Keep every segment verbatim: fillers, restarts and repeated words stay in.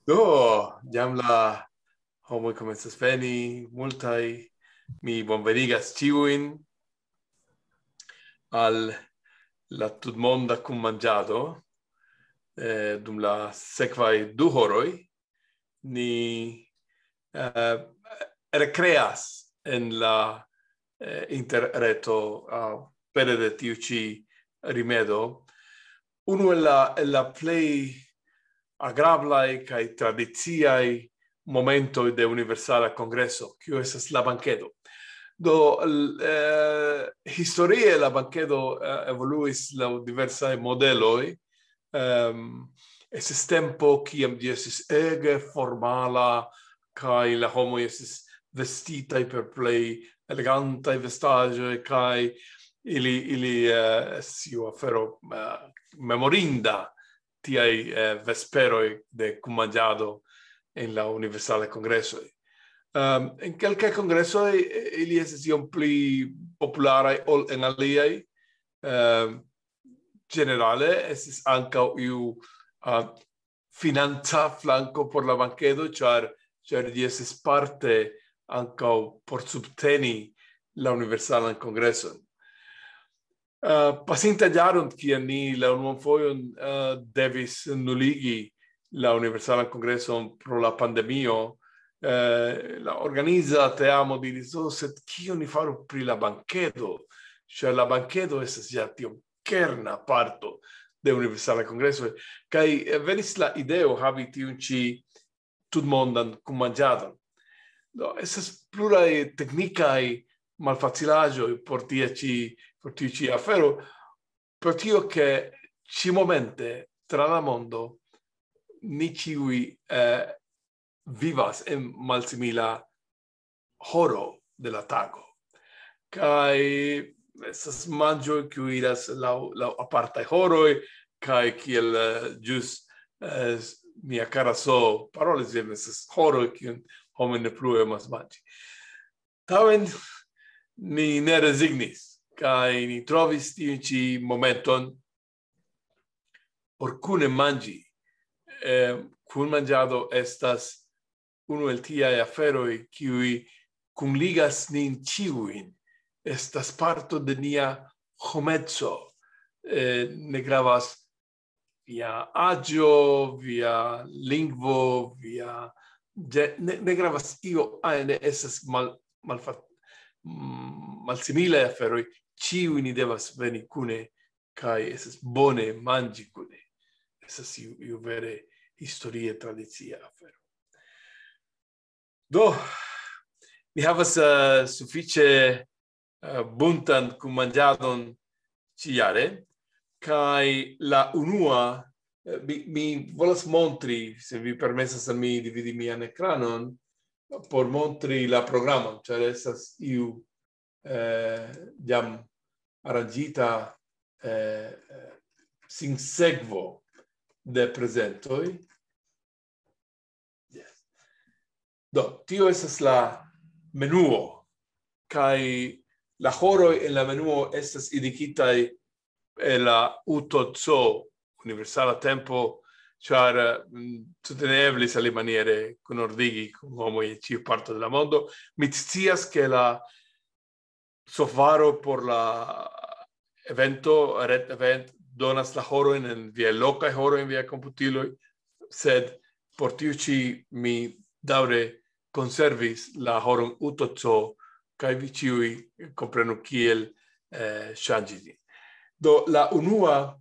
Do, jam la homoj komencas veni, multaj. Mi bonvenigas ĉiujn al la tutmonda kunmanĝado. Eh, dum la sekvaj du horoj ni, eh, rekreas en la, eh, interreto, ah, pere de tiu ĉi rimedo. Unu el la, el la plej agrablaj kaj tradiciaj momentoj de Universala Kongreso, kiu estas la bankedo. Do, l-, eh, historie la bankedo, eh, evoluis laŭ diversaj modeloj. Ehm, estis tempo, kiam ĝi estis ege formala, kaj la homoj estis vestitaj per plej elegantaj vestaĵoj, kaj ili, ili, eh, estis iu afero, eh, memorinda, tiaj, eh, vesperoj de kunmanĝado en la Universalaj Kongresoj. Ehm, en kelkaj kongresoj, eh, ili estis iom pli popularaj ol en aliaj. Ehm, ĝenerale estis ankaŭ iu, ah, financa flanko por la bankedo, ĉar, ĉar ĝi estis parte ankaŭ por subteni la Universalan Kongreson. Eh, pasinta jaron, kiam ni la unuan fojon, eh, devis nuligi la Universalan Kongreson pro la pandemio, eh, la organiza teamo diris: "Oh, sed kion ni faru pri la bankedo? Ĉar la bankedo estas ja tiom kerna parto de Universala Kongreso." Kaj, eh, venis la ideo havi tiun ĉi tutmondan kunmanĝadon. Do, estas pluraj teknikaj malfacilaĵoj por tia ĉi, por tiu ĉi afero, pro tio ke ĉi momente tra la mondo ni ĉiuj, eh, vivas en malsimila horo de la tago. Kaj estas manĝoj, kiuj iras laŭ, laŭ apartaj horoj, kaj kiel, eh, ĵus, eh, mia kara So parolis, jen estas horoj, kiun homoj ne plu emas manĝi. Tamen ni ne rezignis, kaj ni trovis tiun ĉi momenton por kune manĝi. Eh, kunmanĝado estas unu el tiaj aferoj, kiuj kunligas nin ĉiujn. Estas parto de nia homeco. Eh, ne gravas via aĝo, via lingvo, via ĝe-, ne, ne gravas io ajn, ne estas mal-, malfa-, mm, malsimilaj aferoj. Ĉiuj ni devas veni kune kaj estas bone manĝi kune. Estas iu, iu vere historie tradicia afero. Do, ni havas, eh, sufiĉe, eh, buntan kunmanĝadon ĉiujare, kaj la unua, eh, mi, mi volas montri, se vi permesas al mi dividi mian ekranon, por montri la programon, ĉar estas iu, eh, jam aranĝita, eh, sinsekvo de prezentoj. Yes. Do, tio estas la menuo, kaj la horoj en la menuo estas indikitaj el la U T C, Universala Tempo, ĉar, mm, tute ne eblis alimaniere kunordigi kun homoj en ĉiu parto de la mondo. Mi scias, ke la softvaro por la evento, ret event, donas la horojn en via lokaj horoj en via komputiloj, sed por tiu ĉi mi daŭre konservis la horon U T C, kaj vi ĉiuj komprenu kiel, eh, ŝanĝi ĝin. Do, la unua,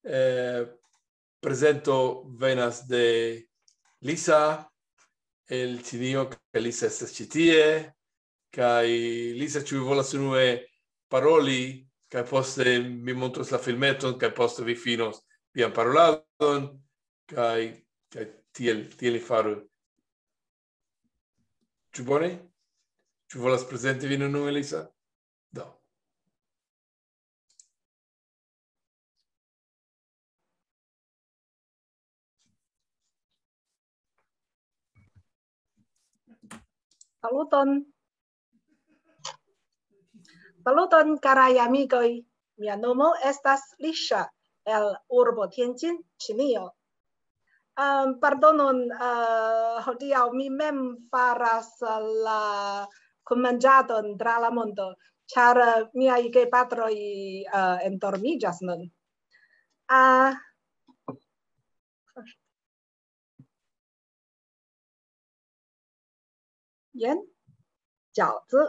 eh, prezento venas de Lisa el Ĉinio, kaj Lisa estas ĉi tie. Kaj Lisa, ĉu vi volas unue paroli, kaj poste mi montros la filmeton, kaj poste vi finos vian paroladon, kaj, kaj tiel, tiel ni faru. Ĉu bone? Ĉu volas prezenti vin unue, Lisa? Do. Saluton. Saluton, karaj amikoj. Mia nomo estas Lisha el urbo Tianjin, Ĉinio. Um, pardonon, uh, hodiaŭ mi mem faras la kunmanĝadon tra la mondo, ĉar, uh, miaj gepatroj, uh, endormiĝas nun. Uh, jen, ĝaŭzi.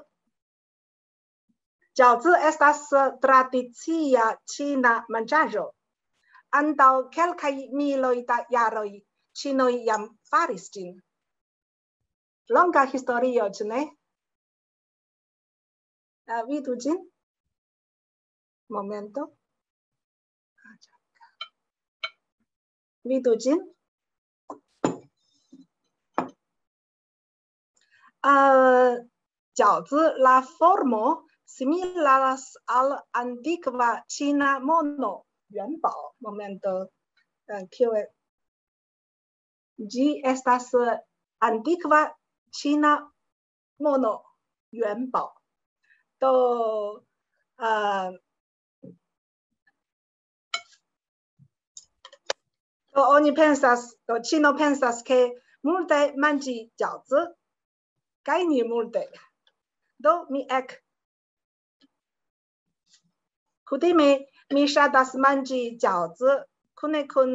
Ĝaŭzi estas tradicia ĉina manĝaĵo. Antaŭ kelkaj miloj da jaroj ĉinoj jam faris ĝin. Longa historio, ĉu ne? Uh, vidu ĝin. Momento. Vidu ĝin. Uh, ĝaŭzi, la formo similas al antikva ĉina mono. 元宝, momento. Uh, kio e-, ĝi estas, uh, antikva ĉina mono. 元宝. Do, uh, do oni pensas, do ĉino pensas, ke multe manĝi ĝaŭzi, gajni multe. Do mi ek-, kutime mi ŝatas manĝi ĝaŭzi kune kun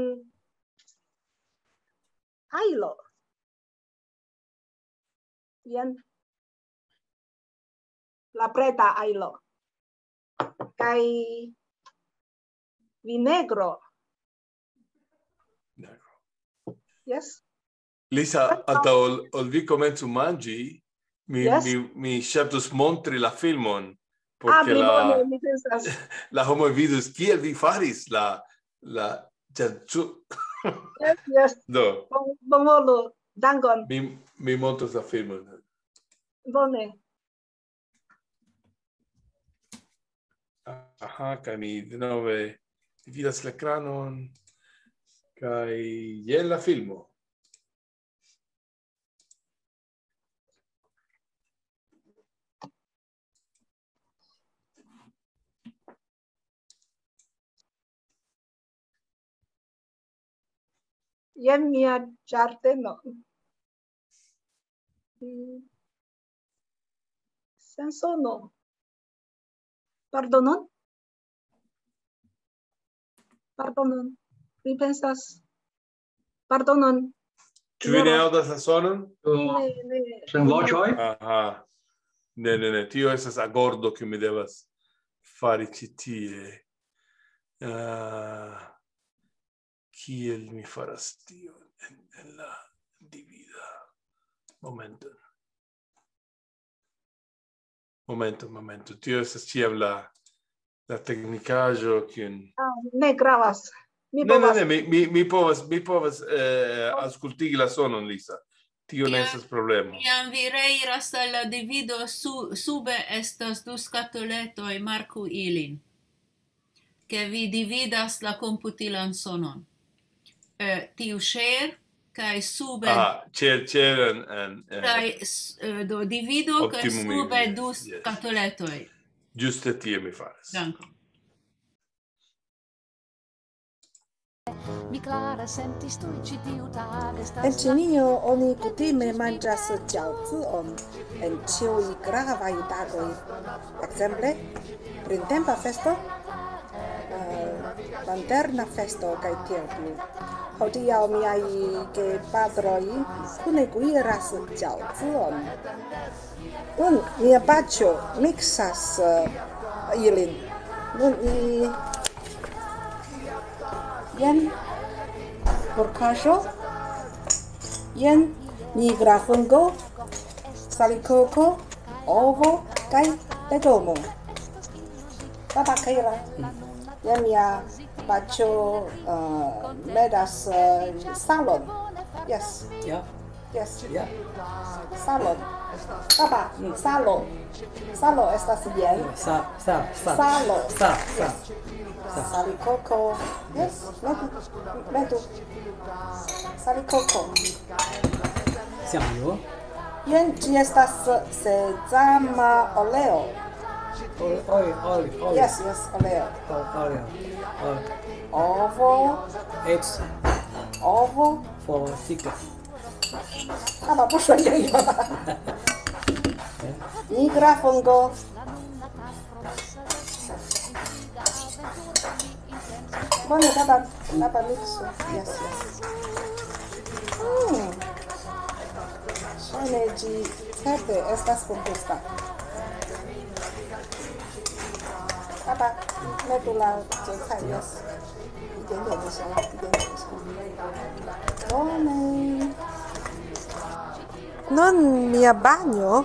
ajlo. Jen la preta ajlo. Kaj vinegro. Yes. Lisa, antaŭ ol, ol vi komencu manĝi, mi, yes, mi, mi ŝatus montri la filmon, ah, porque la, bone, mi pensas, la homoj vidus, kiel vi faris la, la, ĉar ĉu... Yes, yes. Do. Bon-, bonvolu, dankon. Mi, mi montros la filmon. Bone. Aha, kaj mi denove dividas la ekranon, kaj jen la filmo. Jen mia ĝardeno. Mm. Sen sono. Pardonon? Pardonon. Mi pensas. Pardonon. Ĉu vi ne aŭdas la sonon? Ne, ne. Sen voĉoj? Aha. Ne, ne, ne. Tio estas agordo, kiu mi devas fari ĉi tie. Ah, kiel mi faras tion en, en la divida? Momenton. Momento, momento. Tio estas ĉiam la, la teknikaĵo, kiun... Ah, ne gravas. Mi... Ne, ne, povas, ne, mi, mi, mi povas, mi povas, eh, aŭskultigi la sonon, Lisa. Tio ne... Kiam, estas problemo. Kiam vi reiras al la divido, su-, sube estas du skatoletoj, marku ilin. Ke vi dividas la komputilan sonon. Eh, tiu share, kaj sube... Aha, share, share and, and, eh, kaj s-, eh, do divido, kaj optimum sube English, du, yes, skatoletoj. Ĝuste tie mi faras. Dankon. Mi klare sentis tuj ĉi tiu tage. En Ĉinio oni kutime manĝas ĝaŭcion en ĉiuj gravaj tagoj. Ekzemple, printempa festo, eh, lanterna festo kaj tiel plu. Hodiaŭ miaj gepatroj kune kuiras ĝaŭcion. Nun mia paĉjo miksas, eh, ilin. Nun mi, jen porkaĵo, jen nigra fungo, salikoko, ovo kaj legomo. Baba Keira, jen mia paĉjo, eh, medas, eh, salon. Yes. Ja. Yes. Ja. Salon. Baba, mm, salo. Salo estas jen. Sa-, sa-, sa-, salo. Sa-, sa-, yes, sa-, salikoko. Yes, metu, metu. Salikoko. 酱油. Jen ĝi estas sezama oleo. Oli-, oli-, oli-, oli-, yes, yes, oleo. O-, oleo. O-, ovo. Eggs. Ovo. for thick. 爸爸不说英语吧？Nigra fungo. Bone, baba, baba mixo. Yes, yes. Mm. Ŝajne ĝi certe estas bongusta. Baba, metu la 韭菜, yes. 一点点就行了，一点点就行了。Bone. Nun mia banjo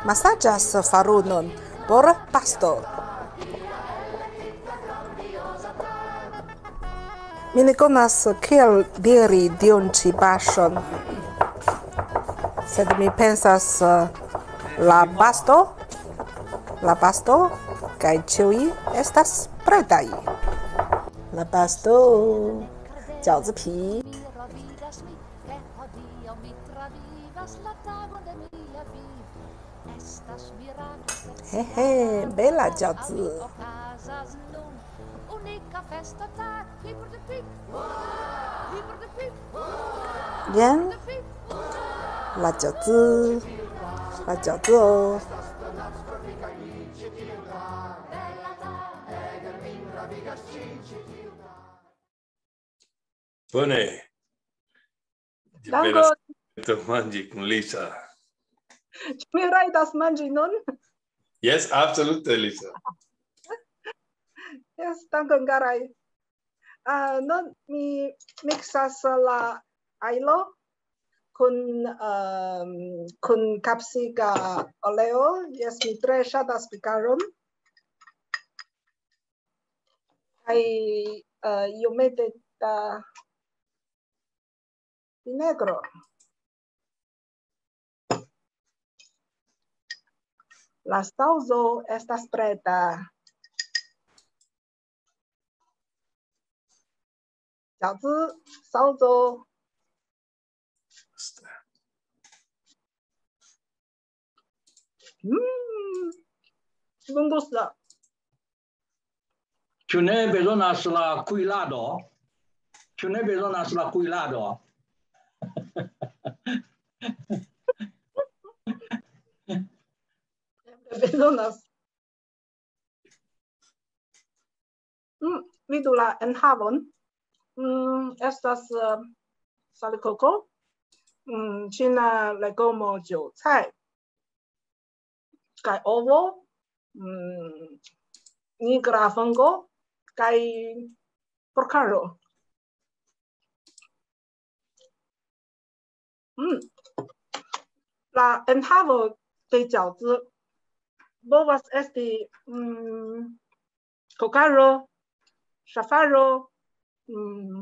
masaĝas farunon por pasto. Mi ne konas kiel diri tiun ĉi paŝon, sed mi pensas, eh, la pasto, la pasto, kaj ĉiuj estas pretaj. La pasto, 饺子皮. He, he, bela 饺子. Jen la 饺子, la 饺子 o. Bone. Dankon. Manĝi kun Lisa. Ĉu mi rajtas manĝi nun? Yes, absolute, Lisa. Yes, dankon, karaj. Ah, nun mi miksas la ajlo kun, ehm, kun kapsika oleo. Yes, mi tre ŝatas pikaron. Kaj, eh, iomete da vinegro. La saŭzo estas preta. 饺子, saŭzo. Mm, bongusta. Ĉu ne bezonas la kuirado? Ĉu ne bezonas la kuirado? Eble bezonas. Mm, vidu la enhavon. Mm, estas, eh, salikoko, mm, ĉina legomo 韭菜, kaj ovo, mm, nigra fungo, kaj porkaĵo. Mm. La enhavo de 饺子 povas esti, mm, kokaĵo, ŝafaĵo, mm,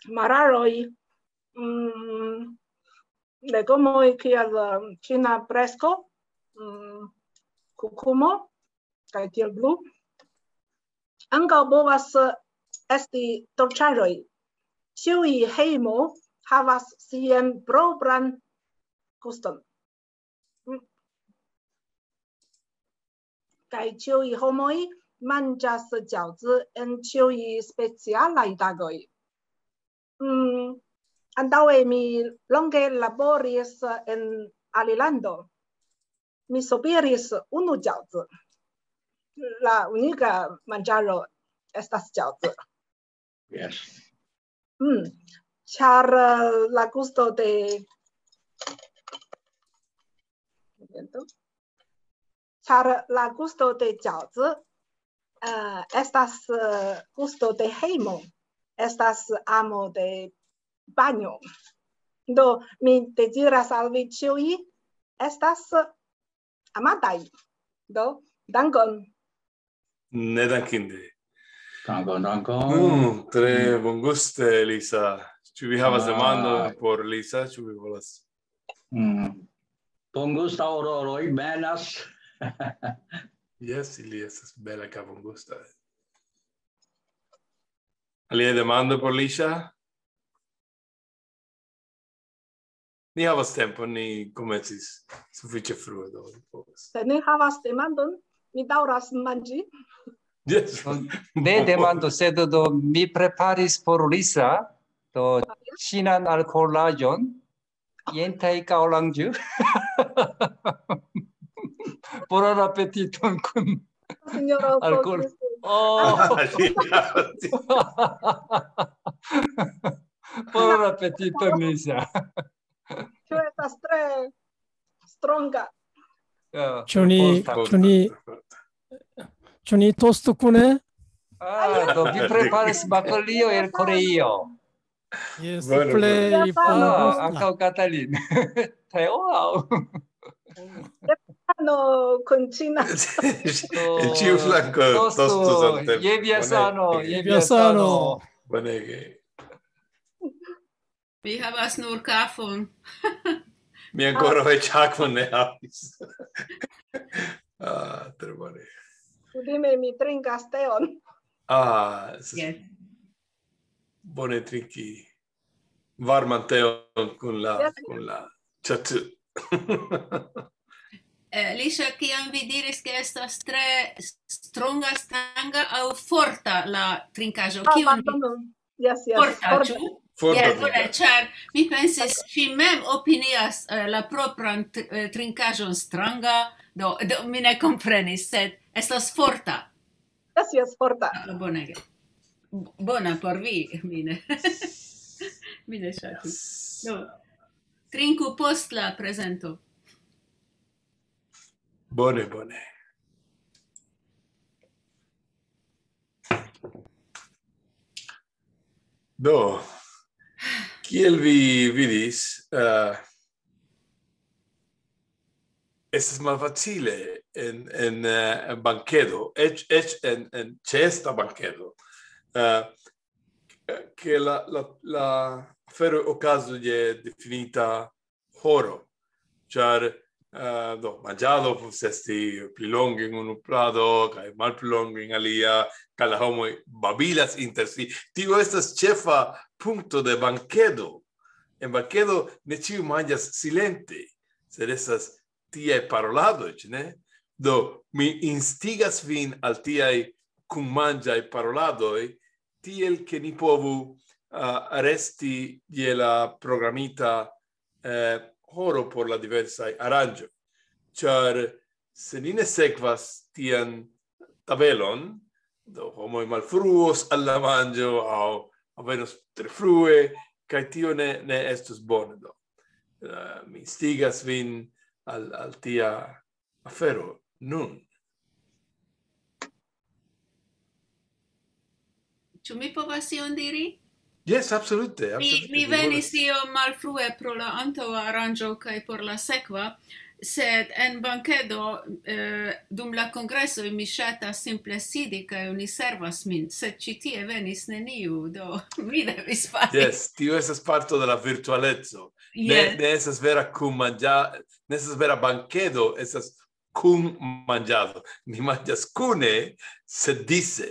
mararoj, mm, legomoj kiel, eh, ĉina presko, mm, kukumo, kaj tiel plu. Ankaŭ povas esti dolĉaĵoj. Ĉiuj hejmo havas sian propran guston. Mm. Kaj ĉiuj homoj manĝas 饺子 en ĉiuj specialaj tagoj. Mm, antaŭe mi longe laboris en alilando. Mi sopiris unu 饺子. La unika manĝaĵo estas 饺子. Yes. Mm. Ĉar, eh, la gusto de, momenton. Ĉar la gusto de 饺子, eh, estas, eh, gusto de hejmo, estas amo de banjo. Do, mi deziras al vi ĉiuj estas amataj. Do, dankon. Nedankinde. Dankon, dankon. Mm, tre bonguste, Lisa. Ĉu vi havas demandon por Lisa? Ĉu vi volas? Mm. Bongusta ororoj benas. Yes, ili estas bela kaj bongusta. Alia demando por Lisa? Ni havas tempon, ni komencis sufiĉe frue, do ni povas. Se ni havas demandon, mi daŭras manĝi. Yes. Ne demando, sed do mi preparis por Lisa Do, ŝinan alkoholaĵon, jen taŭ kaŭlanĝu. Bonan apetiton kun Sinjoro alkohol. Alkohol. Oh, bonan apetiton, Nisha. Ĉu estas tre stronga? Ja, Ĉu ni, forta. ĉu ni, ĉu ni tostu kune? Ah, do vi preparis baklio el Koreio. Jes, Bueno, plej Ah, bongusta. Ankaŭ Katalin. Tre, wow. No, kun ĉina. En ĉiu flanko Tostu, tostu samtempe. Je via sano, je Je via via sano. Sano. Bonege. Mi havas nur kafon. Mi ankoraŭ eĉ akvon ne havis. Ah, tre bone. Kutime mi trinkas teon. Ah, estas Yes. bone trinki varman teon kun la, Yes. kun la ĉatu. Eh, Lisha, kiam vi diris, ke estas tre stronga, stranga aŭ forta la trinkaĵo, Ah, kiun vi pardonu. Yes, yes. forta, Forta. Ĉu? Forta Yes, bone, trinkaĵo. Ĉar mi pensis, ŝi mem opinias eh, la propran tr- eh, trinkaĵon stranga, do, do mi ne komprenis, sed estas forta. Yes, yes, forta. Ah, bonege. B- Bona por vi, mi ne. Mi ne ŝatis. Do, trinku post la prezento. Bone, bone. Do, kiel vi vidis, eh, estas malfacile en, en eh, bankedo, eĉ, eĉ en, en ĉeesta bankedo, eh, ke la, la, la afero okazu je definita horo, ĉar eh, do, manĝado povas esti pli longe en unu plado kaj malpli longe en alia, kaj la homoj babilas inter si. Tio estas ĉefa punkto de bankedo. En bankedo ne ĉiu manĝas silente, sed estas tiaj paroladoj, ĉu ne? Do, mi instigas vin al tiaj kunmanĝaj paroladoj, tiel ke ni povu ah, resti je la programita eh, horo por la diversaj aranĝoj. Ĉar se ni ne sekvas tian tabelon, do homoj malfruos al la manĝo aŭ alvenos tre frue, kaj tio ne, ne estus bone. Do, eh, mi instigas vin al, al tia afero nun. Ĉu mi povas ion diri? Jes, absolute. Mi, absolute, mi mi venis volas- iom malfrue pro la antaŭa aranĝo kaj por la sekva, sed en bankedo eh, dum la kongresoj mi ŝatas simple sidi kaj oni servas min, sed ĉi tie venis neniu, do mi devis fari. Jes, tio estas parto de la virtualeco. Ne, Jes. Ne estas vera kunmanĝa, ne estas vera bankedo, estas kunmanĝado. Ni manĝas kune, sed dise.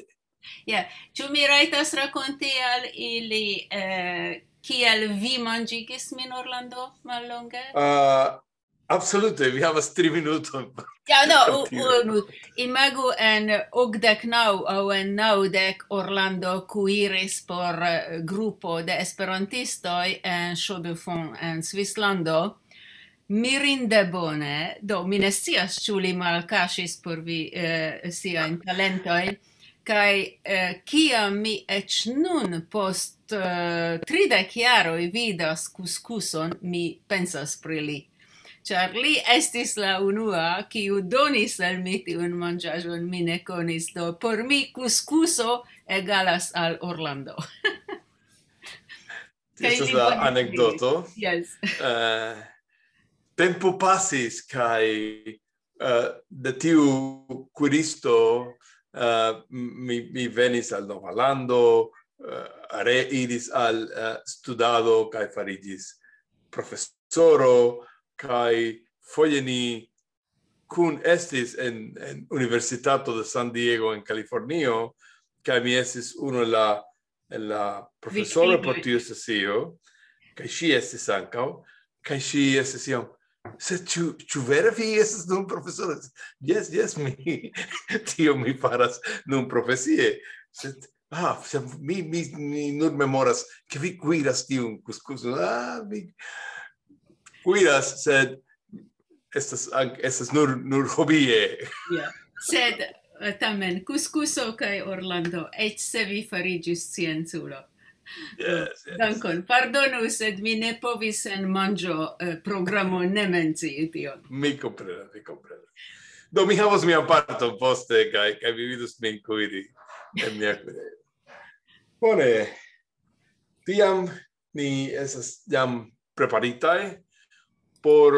Ĉu mi rajtas rakonti al ili eh, kiel vi manĝigis min, Orlando, mallonge? Ah, absolute, vi havas tri minutojn. Ja, no, Por u- tio. Unu. Imagu en okdek naŭ aŭ en naŭdek Orlando kuiris por eh, grupo de esperantistoj en Chaux-de-Fonds en Svislando. Mirinde bone, do mi ne scias, ĉu li malkaŝis por vi eh, siajn talentojn, kaj eh, kiam mi eĉ nun post eh, tridek jaroj vidas kuskuson, mi pensas pri li. Ĉar li estis la unua, kiu donis al mi tiun manĝaĵon, mi ne konis, do por mi kuskuso egalas al Orlando. Kaj Estas li la bone anekdoto. Yes. Eh, tempo pasis kaj eh, de tiu kuiristo eh, mi, mi venis al Nova Lando, eh, reiris al eh, studado kaj fariĝis profesoro, kaj foje ni kun estis en, en Universitato de San Diego en Kalifornio, kaj mi estis unu el la, el la profesoro por Viktimoj. Tiu sesio, kaj ŝi estis ankaŭ, kaj ŝi estis iom, sed ĉu, ĉu vere vi estas nun profesoro? Jes, jes, mi, tio mi faras nun profesie, sed Ah, se mi, mi, mi nur memoras, ke vi kuiras tiun kuskuson. Ah, mi kuiras, sed estas, ank-, estas nur, nur hobie. Ja. Sed eh, tamen, kuskuso kaj Orlando, eĉ se vi fariĝis scienculo. Yes, yes. Dankon. Pardonu, sed mi ne povis en manĝo eh, programo ne mencii tion. Mi komprenas, mi komprenas. Do, mi havos mian parton poste, kaj, kaj vi vidos min kuiri en mia kuirejo. Bone, tiam ni estas jam preparitaj por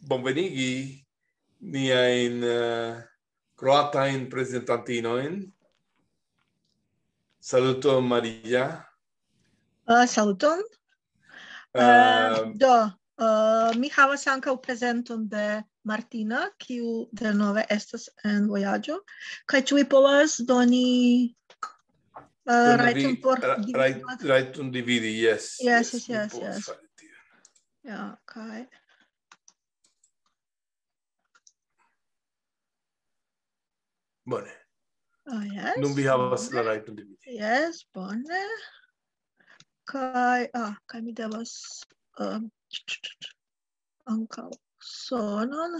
bonvenigi niajn eh, kroatajn prezentantinojn. Saluton, Maria. Uh, saluton. Uh, Eh, do, uh, mi havas ankaŭ prezenton de Martina, kiu denove estas en vojaĝo. Kaj ĉu vi povas doni uh, Doni rajton por ra- dividi? rajt-, rajton dividi, yes. Yes, yes, Mi yes, povas yes. Fari tion. Ja, kaj Bone. Oh, yes. Nun vi havas la rajton dividi. Yes, bone. Kaj, ah, kaj mi devas um, ankaŭ sonon.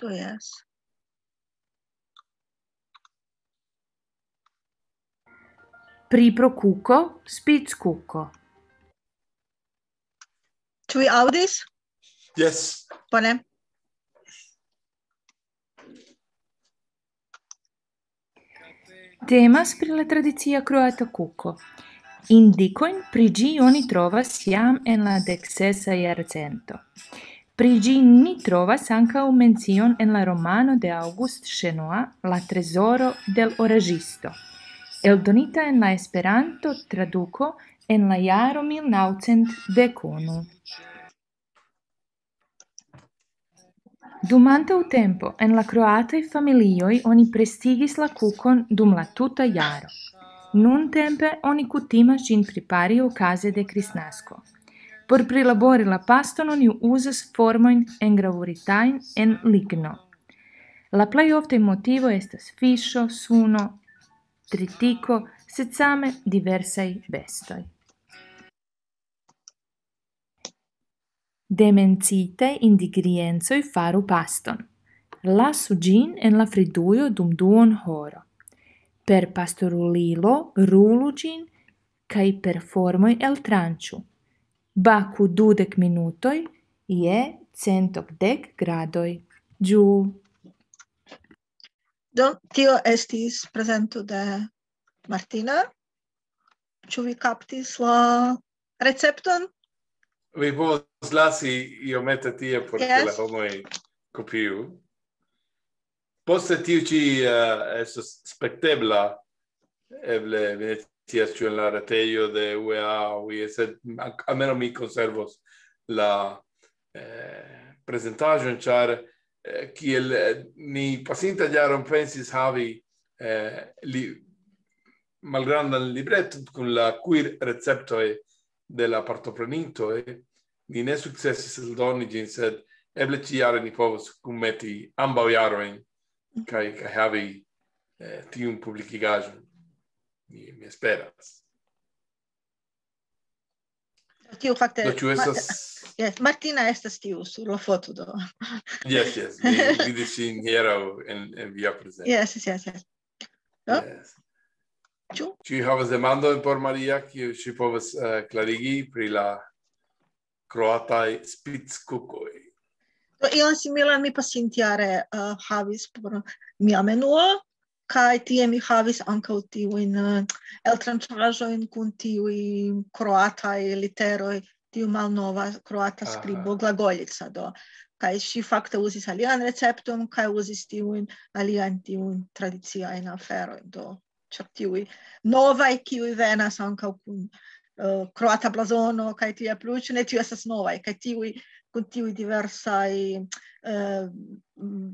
Do, yes. Pri pro kuko, spickuko. Ĉu vi aŭdis? Yes. Bone. Temas pri la tradicia kroata kuko. Indikojn pri ĝi oni trovas jam en la deksesa jarcento. Pri ĝi ni trovas ankaŭ mencion en la romano de August Chenois, La trezoro del oraĵisto, eldonita en la Esperanto traduko en la jaro mil naŭcent dek unu. Dum antaŭ tempo en la kroataj familioj oni prestigis la kukon dum la tuta jaro. Nuntempe oni kutimas ĝin prepari okaze de Kristnasko. Por prilabori la paston oni uzas formojn engravuritajn en ligno. La plej oftaj motivo estas fiŝo, suno, tritiko, sed same diversaj bestoj. Demencitaj ingrediensoj faru paston. Lasu ĝin en la fridujo dum duon horo. Per pastorulilo rulu ĝin kaj per formoj eltranĉu. Baku dudek minutoj je cent okdek gradoj. Ĝuu. Do, tio estis prezento de Martina. Ĉu vi kaptis la recepton? Vi povas lasi iomete tie por ke Yes. la homoj kopiu. Poste tiu ĉi eh, estos spektebla, eble vi ne scias ĉu en la retejo de U E A aŭ ie, sed al-, almenaŭ mi konservos la eh, prezentaĵon, ĉar eh, kiel eh, ni pasinta jaron pensis havi eh, li, malgrandan libreton kun la kuir receptoj de la partoprenintoj, ni ne sukcesis eldoni ĝin, sed eble ĉi-jare ni povos kunmeti ambaŭ jarojn kaj, kaj havi eh, tiun publikigaĵon. Mi, mi esperas. Tio fakte Do, ĉu Ma- estas... Yes, Martina estas tiu sur la foto do. Yes, yes, mi vidis ŝin hieraŭ en, en via prezento. Yes, yes, yes, yes. No? Yes. Ĉu? Ĉu vi havas demandojn por Maria, kiu ŝi povas eh, klarigi pri la kroataj spickukoj? Do, ion similan mi pasintjare uh, havis por mia menuo, kaj tie mi havis ankaŭ tiujn uh, eltranĉaĵojn kun tiuj kroataj literoj, tiu malnova kroata Aha. skribo glagoljica, do. Kaj ŝi fakte uzis alian recepton, kaj uzis tiujn aliajn tiujn tradiciajn aferojn, do. Ĉar tiuj novaj, kiuj venas ankaŭ kun uh, kroata blazono, kaj tie plu, ĉu ne, tiuj estas novaj, kaj tiuj kun tiuj diversaj uh,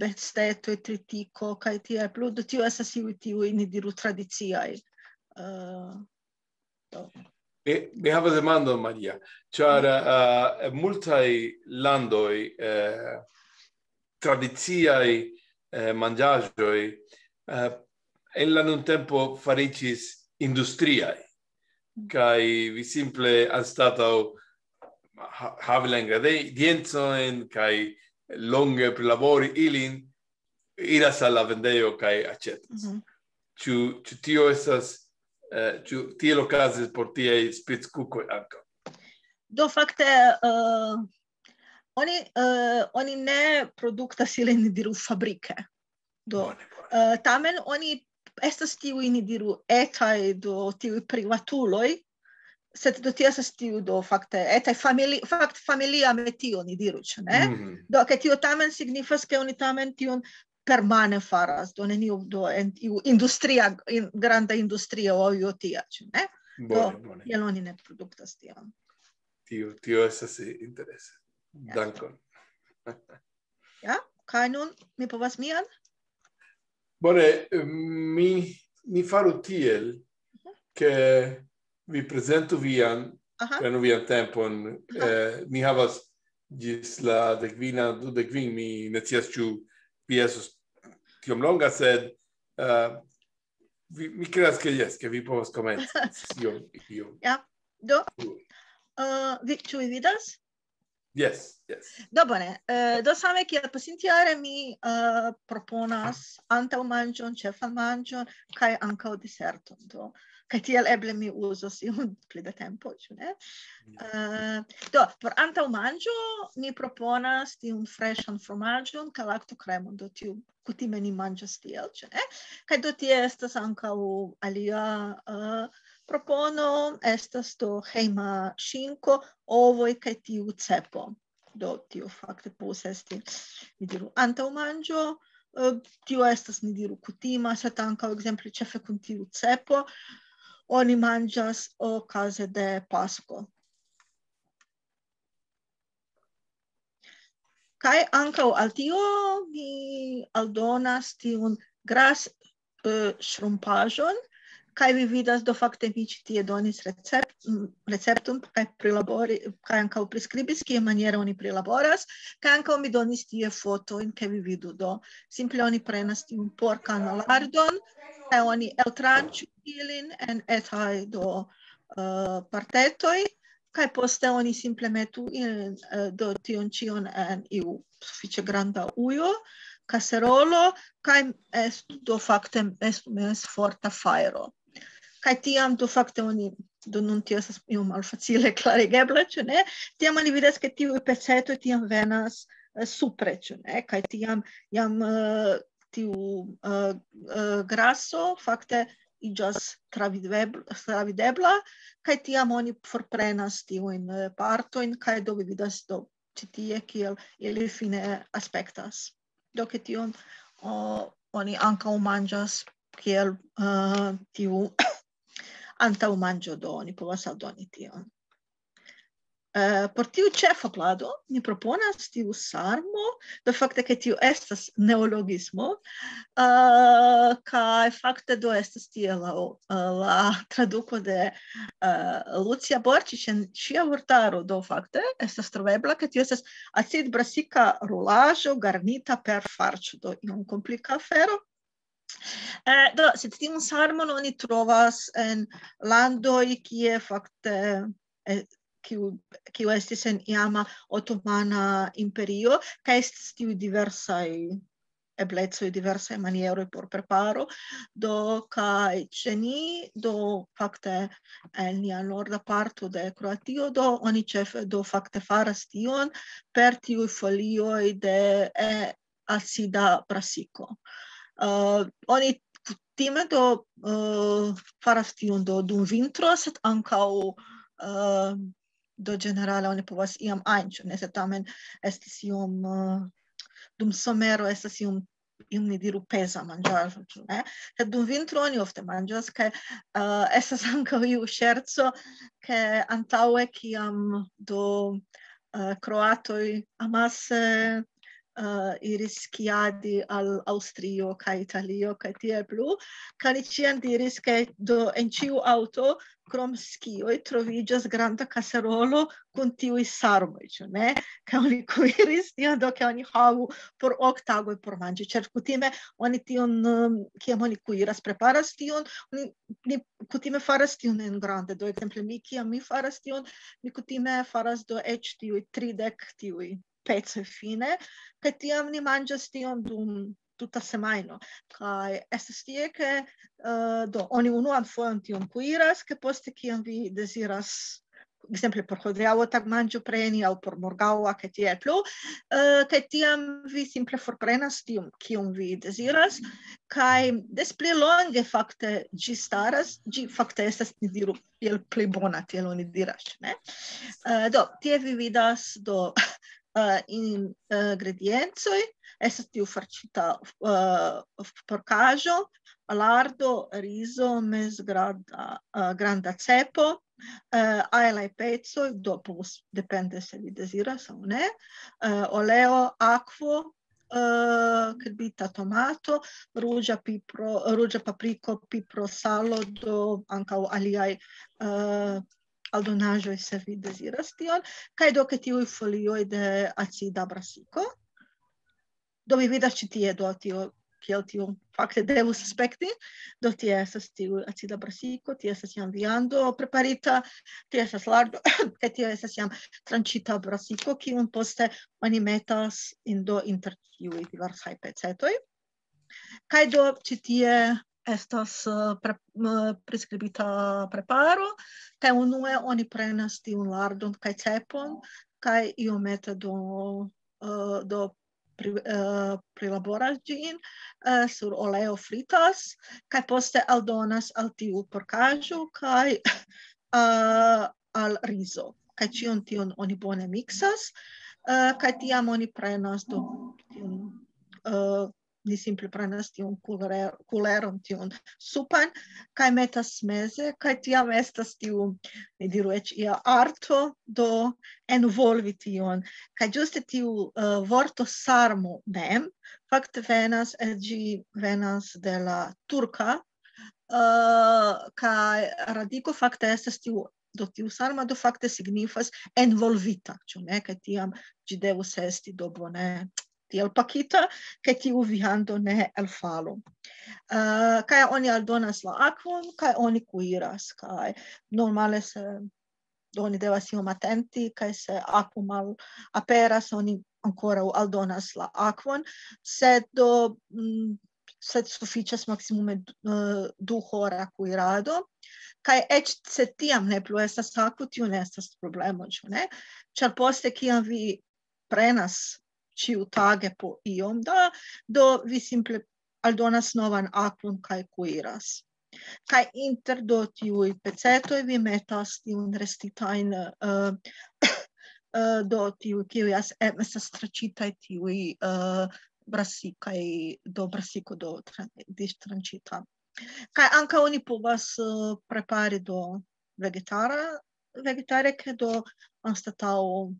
bestetoj, tritiko, kaj tie plu, do tio estas iuj tiuj, ni diru, tradiciaj. Uh, do. Mi, mi havas demandon, Maria, ĉar eh, en multaj landoj eh, tradiciaj eh, manĝaĵoj eh, en la nuntempo fariĝis industriaj, kaj vi simple anstataŭ ha-, havi la ingrediencojn kaj longe prilabori ilin, iras al la vendejo kaj aĉetas. Mhm. Ĉu, ĉu tio estas, eh, ĉu tiel okazis por tiaj spickukoj ankaŭ? Do fakte, eh, oni, eh, oni ne produktas ilin, ni diru, fabrike. Do, Bone, bone. eh, tamen oni estas tiuj, ni diru, etaj, do tiuj privatuloj, sed do tio estas tiu, do fakte etaj famili-, fakte familia metio, ni diru, ĉu ne? Mhm. Do, ke tio tamen signifas, ke oni tamen tion permane faras, do neniu, do en iu industria, in, granda industrio aŭ io tia, ĉu ne? Bone, bone. Kiel oni ne produktas tion. Tio, tio estas interese. Ja. Dankon. Ja? Kaj nun mi povas mian? Bone, mi, mi faru tiel, ke vi prezentu vian, Aha. prenu vian tempon, Aha. eh, ni havas ĝis la dekvina, dudek kvin, mi ne scias, ĉu vi estos tiom longa, sed, eh, vi, mi kredas, ke jes, ke vi povas komenci. Iom, iom. Ja, do, eh, vi, ĉu vi vidas? Jes, jes. Do bone, eh, do same kiel pasintjare mi, eh, proponas antaŭmanĝon, ĉefan manĝon, kaj ankaŭ deserton. Do, kaj tiel eble mi uzos iom pli da tempo, ĉu ne? Eh, do, por antaŭmanĝo mi proponas tiun freŝan fromaĝon kaj laktokremon, do tiu kutime ni manĝas tiel, ĉu ne? Kaj do tie estas ankaŭ alia, eh, propono, estas do hejma ŝinko, ovoj kaj tiu cepo. Do tio fakte povus esti, ni diru, antaŭmanĝo, eh, tio estas, ni diru, kutima, sed ankaŭ, ekzemple, ĉefe kun tiu cepo, oni manĝas okaze de Pasko. Kaj ankaŭ al tio mi aldonas tiun gras, eh, ŝrumpaĵon, kaj vi vidas, do fakte mi ĉi tie donis recept-, mm, recepton kaj prilabori-, kaj ankaŭ priskribis, kiamaniere oni prilaboras, kaj ankaŭ mi donis tie fotojn, ke vi vidu. Do simple oni prenas tiun porkan lardon, kaj oni eltranĉu ilin en etaj, do, eh, partetoj, kaj poste oni simple metu in, eh, do tion ĉion en iu sufiĉe granda ujo, kaserolo, kaj estu, do fakte estu mez forta fajro. Kaj tiam, do fakte oni, do nun tio estas iom malfacile klarigebla, ĉu ne? Tiam oni vidas, ke tiuj pecetoj tiam venas, eh, supre, ĉu ne? Kaj tiam jam, eh, tiu, eh, eh, graso fakte iĝas travidebl-, travidebla, kaj tiam oni forprenas tiujn, eh, partojn, kaj do vi vidas, do, ĉi tie, kiel ili fine aspektas. Do ke tion, o, oni ankaŭ manĝas kiel, eh, tiu antaŭmanĝo, do oni povas aldoni tion. Eh, por tiu ĉefa plado mi proponas tiu sarmo, do fakte ke tiu estas neologismo, eh, kaj fakte do estas tie la, la traduko de, eh, Lucia Borĉiĉ en ŝia vortaro, do fakte estas trovebla, ke tio estas acidbrasika rulaĵo garnita per farĉo, do iom komplika afero. Eh, do, sed tiun sarmon oni trovas en landoj, kie fakte, eh, kiu, kiu estis en iama otomana imperio, kaj estis tiuj diversaj eblecoj, diversaj manieroj por preparo. Do, kaj ĉe ni, do, fakte, en nia norda parto de Kroatio, do, oni ĉefe, do, fakte faras tion per tiuj folioj de, eh, acida brasiko. Eh, oni kutime, do, eh, faras tion, do, dum vintro, sed ankaŭ, eh, do, ĝenerale oni povas iam ajn, ĉu ne, sed tamen estas iom, eh, dum somero estas iom, iom, ni diru, peza manĝaĵo, ĉu ne? Sed dum vintro oni ofte manĝas, kaj, eh, estas ankaŭ iu ŝerco, ke antaŭe, kiam, do, eh, kroatoj amase, uh, iris skiadi al Aŭstrio kaj Italio kaj tiel plu, kaj oni ĉiam diris, ke do en ĉiu aŭto krom skioj troviĝas granda kaserolo kun tiuj sarmoj, ĉu ne? Kaj oni kuiris tion, do ke oni havu por ok tagoj por manĝi, ĉar kutime oni tion, um, kiam oni kuiras, preparas tion, oni, ni kutime faras tion en grande. Do ekzemple mi, kiam mi faras tion, mi kutime faras do eĉ tiuj tridek tiuj pecoj fine, kaj tiam ni manĝas tion dum tuta semajno. Kaj estas tie, ke, eh, do, oni unuan fojon tion kuiras, ke poste, kiam vi deziras, ekzemple, por hodiaŭa tagmanĝo preni aŭ por morgaŭa, kaj tiel plu, eh, kaj tiam vi simple forprenas tiun, kiun vi deziras, kaj des pli longe fakte ĝi staras, ĝi fakte estas, ni diru, tiel pli bona, tiel oni diras, ne? Eh, do, tie vi vidas, do, eh, in-, eh, ingrediencoj, estas tiu farĉita, eh, porkaĵo, lardo, rizo, mezgranda, eh, granda cepo, eh, ajlaj pecoj, do povus, depende se vi deziras aŭ ne, eh, oleo, akvo, eh, krbita tomato, ruĝa pipro, ruĝa papriko, pipro, salo, do ankaŭ aliaj, eh, aldonaĵoj, se vi deziras tion, kaj do ke tiuj folioj de acida brasiko. Do vi vidas ĉi tie, do tio, kiel tio fakte devus aspekti, do tie estas tiu acida brasiko, tie estas jam viando preparita, tie estas lardo, kaj tie estas jam tranĉita brasiko, kiun poste oni metas in, do inter tiuj diversaj pecetoj. Kaj do ĉi tie estas, eh, pre-, m-, priskribita preparo, kaj unue oni prenas tiun lardon kaj cepon, kaj iomete do, eh, do pri-, eh, prilaboras ĝin, eh, sur oleo fritas, kaj poste aldonas al tiu porkaĵo kaj, eh, al rizo. Kaj ĉion tion oni bone miksas, eh, kaj tiam oni prenas do tiun, eh, ni simple prenas tiun kulere-, kuleron, tiun supan, kaj metas meze, kaj tiam estas tiu, ni diru eĉ ia arto, do envolvi tion. Kaj ĝuste tiu, eh, vorto sarmo mem, fakte venas, eh, ĝi venas de la turka, eh, kaj radiko fakte estas tiu, do tiu sarma, do fakte signifas envolvita, ĉu ne? Kaj tiam ĝi devus esti do bone tiel pakita, ke tiu viando ne elfalu. Eh, kaj oni aldonas la akvon, kaj oni kuiras, kaj normale se, do oni devas iom atenti, kaj se akvo malaperas, oni ankoraŭ aldonas la akvon, sed do, mm, sed sufiĉas maksimume, eh, du hora kuirado, kaj eĉ se tiam ne plu estas akvo, tio ne estas problemo, ĉu ne? Ĉar poste, kiam vi prenas ĉiutage po iom da, do vi simple aldonas novan akvon kaj kuiras. Kaj inter do tiuj pecetoj vi metas tiun restitajn, eh, eh, do tiuj, kiuj as-, em, estas tranĉitaj tiuj, eh, brasikaj, do brasiko do tra-, distranĉita. Kaj ankaŭ oni povas, eh, prepari do vegetara, vegetare, ke do anstataŭ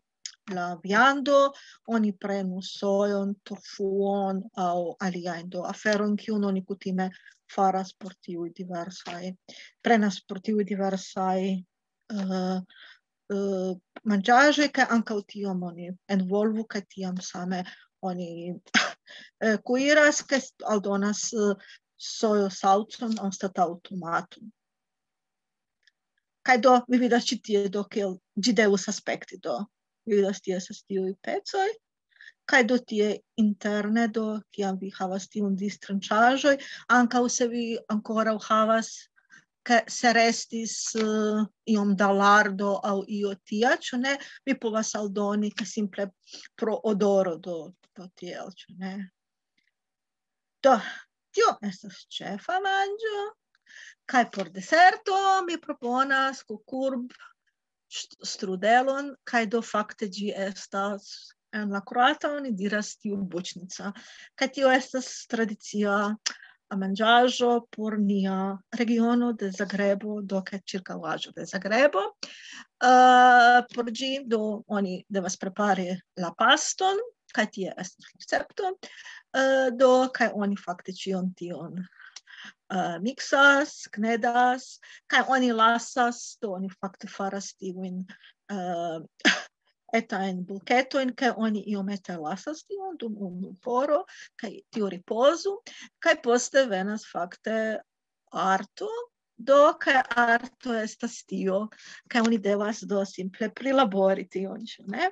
la viando, oni prenu sojon, tofuon aŭ aliajn do aferojn, kiun oni kutime faras por tiuj diversaj, prenas por tiuj diversaj, eh, eh, manĝaĵoj, kaj ankaŭ tiom oni envolvu, kaj tiam same oni, eh, kuiras, kaj aldonas, eh, sojosalcon anstataŭ tomaton. Kaj do, mi vidas ĉi tie, do, kiel ĝi devus aspekti, do. Mi vidas, tie estas tiuj pecoj. Kaj do tie interne, do, kiam vi havas tiun distranĉaĵoj, ankaŭ se vi ankoraŭ havas, ke se restis, eh, iom da lardo aŭ io tia, ĉu ne, mi povas aldoni, ke simple pro odoro, do, do tiel, ĉu ne. Do, tio estas ĉefa manĝo. Kaj por deserto mi proponas kukurb st-, strudelon, kaj do fakte ĝi estas en la kroata, oni diras tiu buĉnica. Kaj tio estas tradicia manĝaĵo por nia regiono de Zagrebo, do kaj ĉirkaŭaĵo de Zagrebo. Eh, por ĝi, do, oni devas prepari la paston, Kaj tie estas recepto, eh, do kaj oni fakte ĉion tion, eh, miksas, knedas, kaj oni lasas, do oni fakte faras tiujn, eh, etajn bulketojn, kaj oni iomete lasas tion dum unu horo, kaj tio ripozu, kaj poste venas fakte arto, do kaj arto estas tio, kaj oni devas do simple prilabori tion, ĉu ne?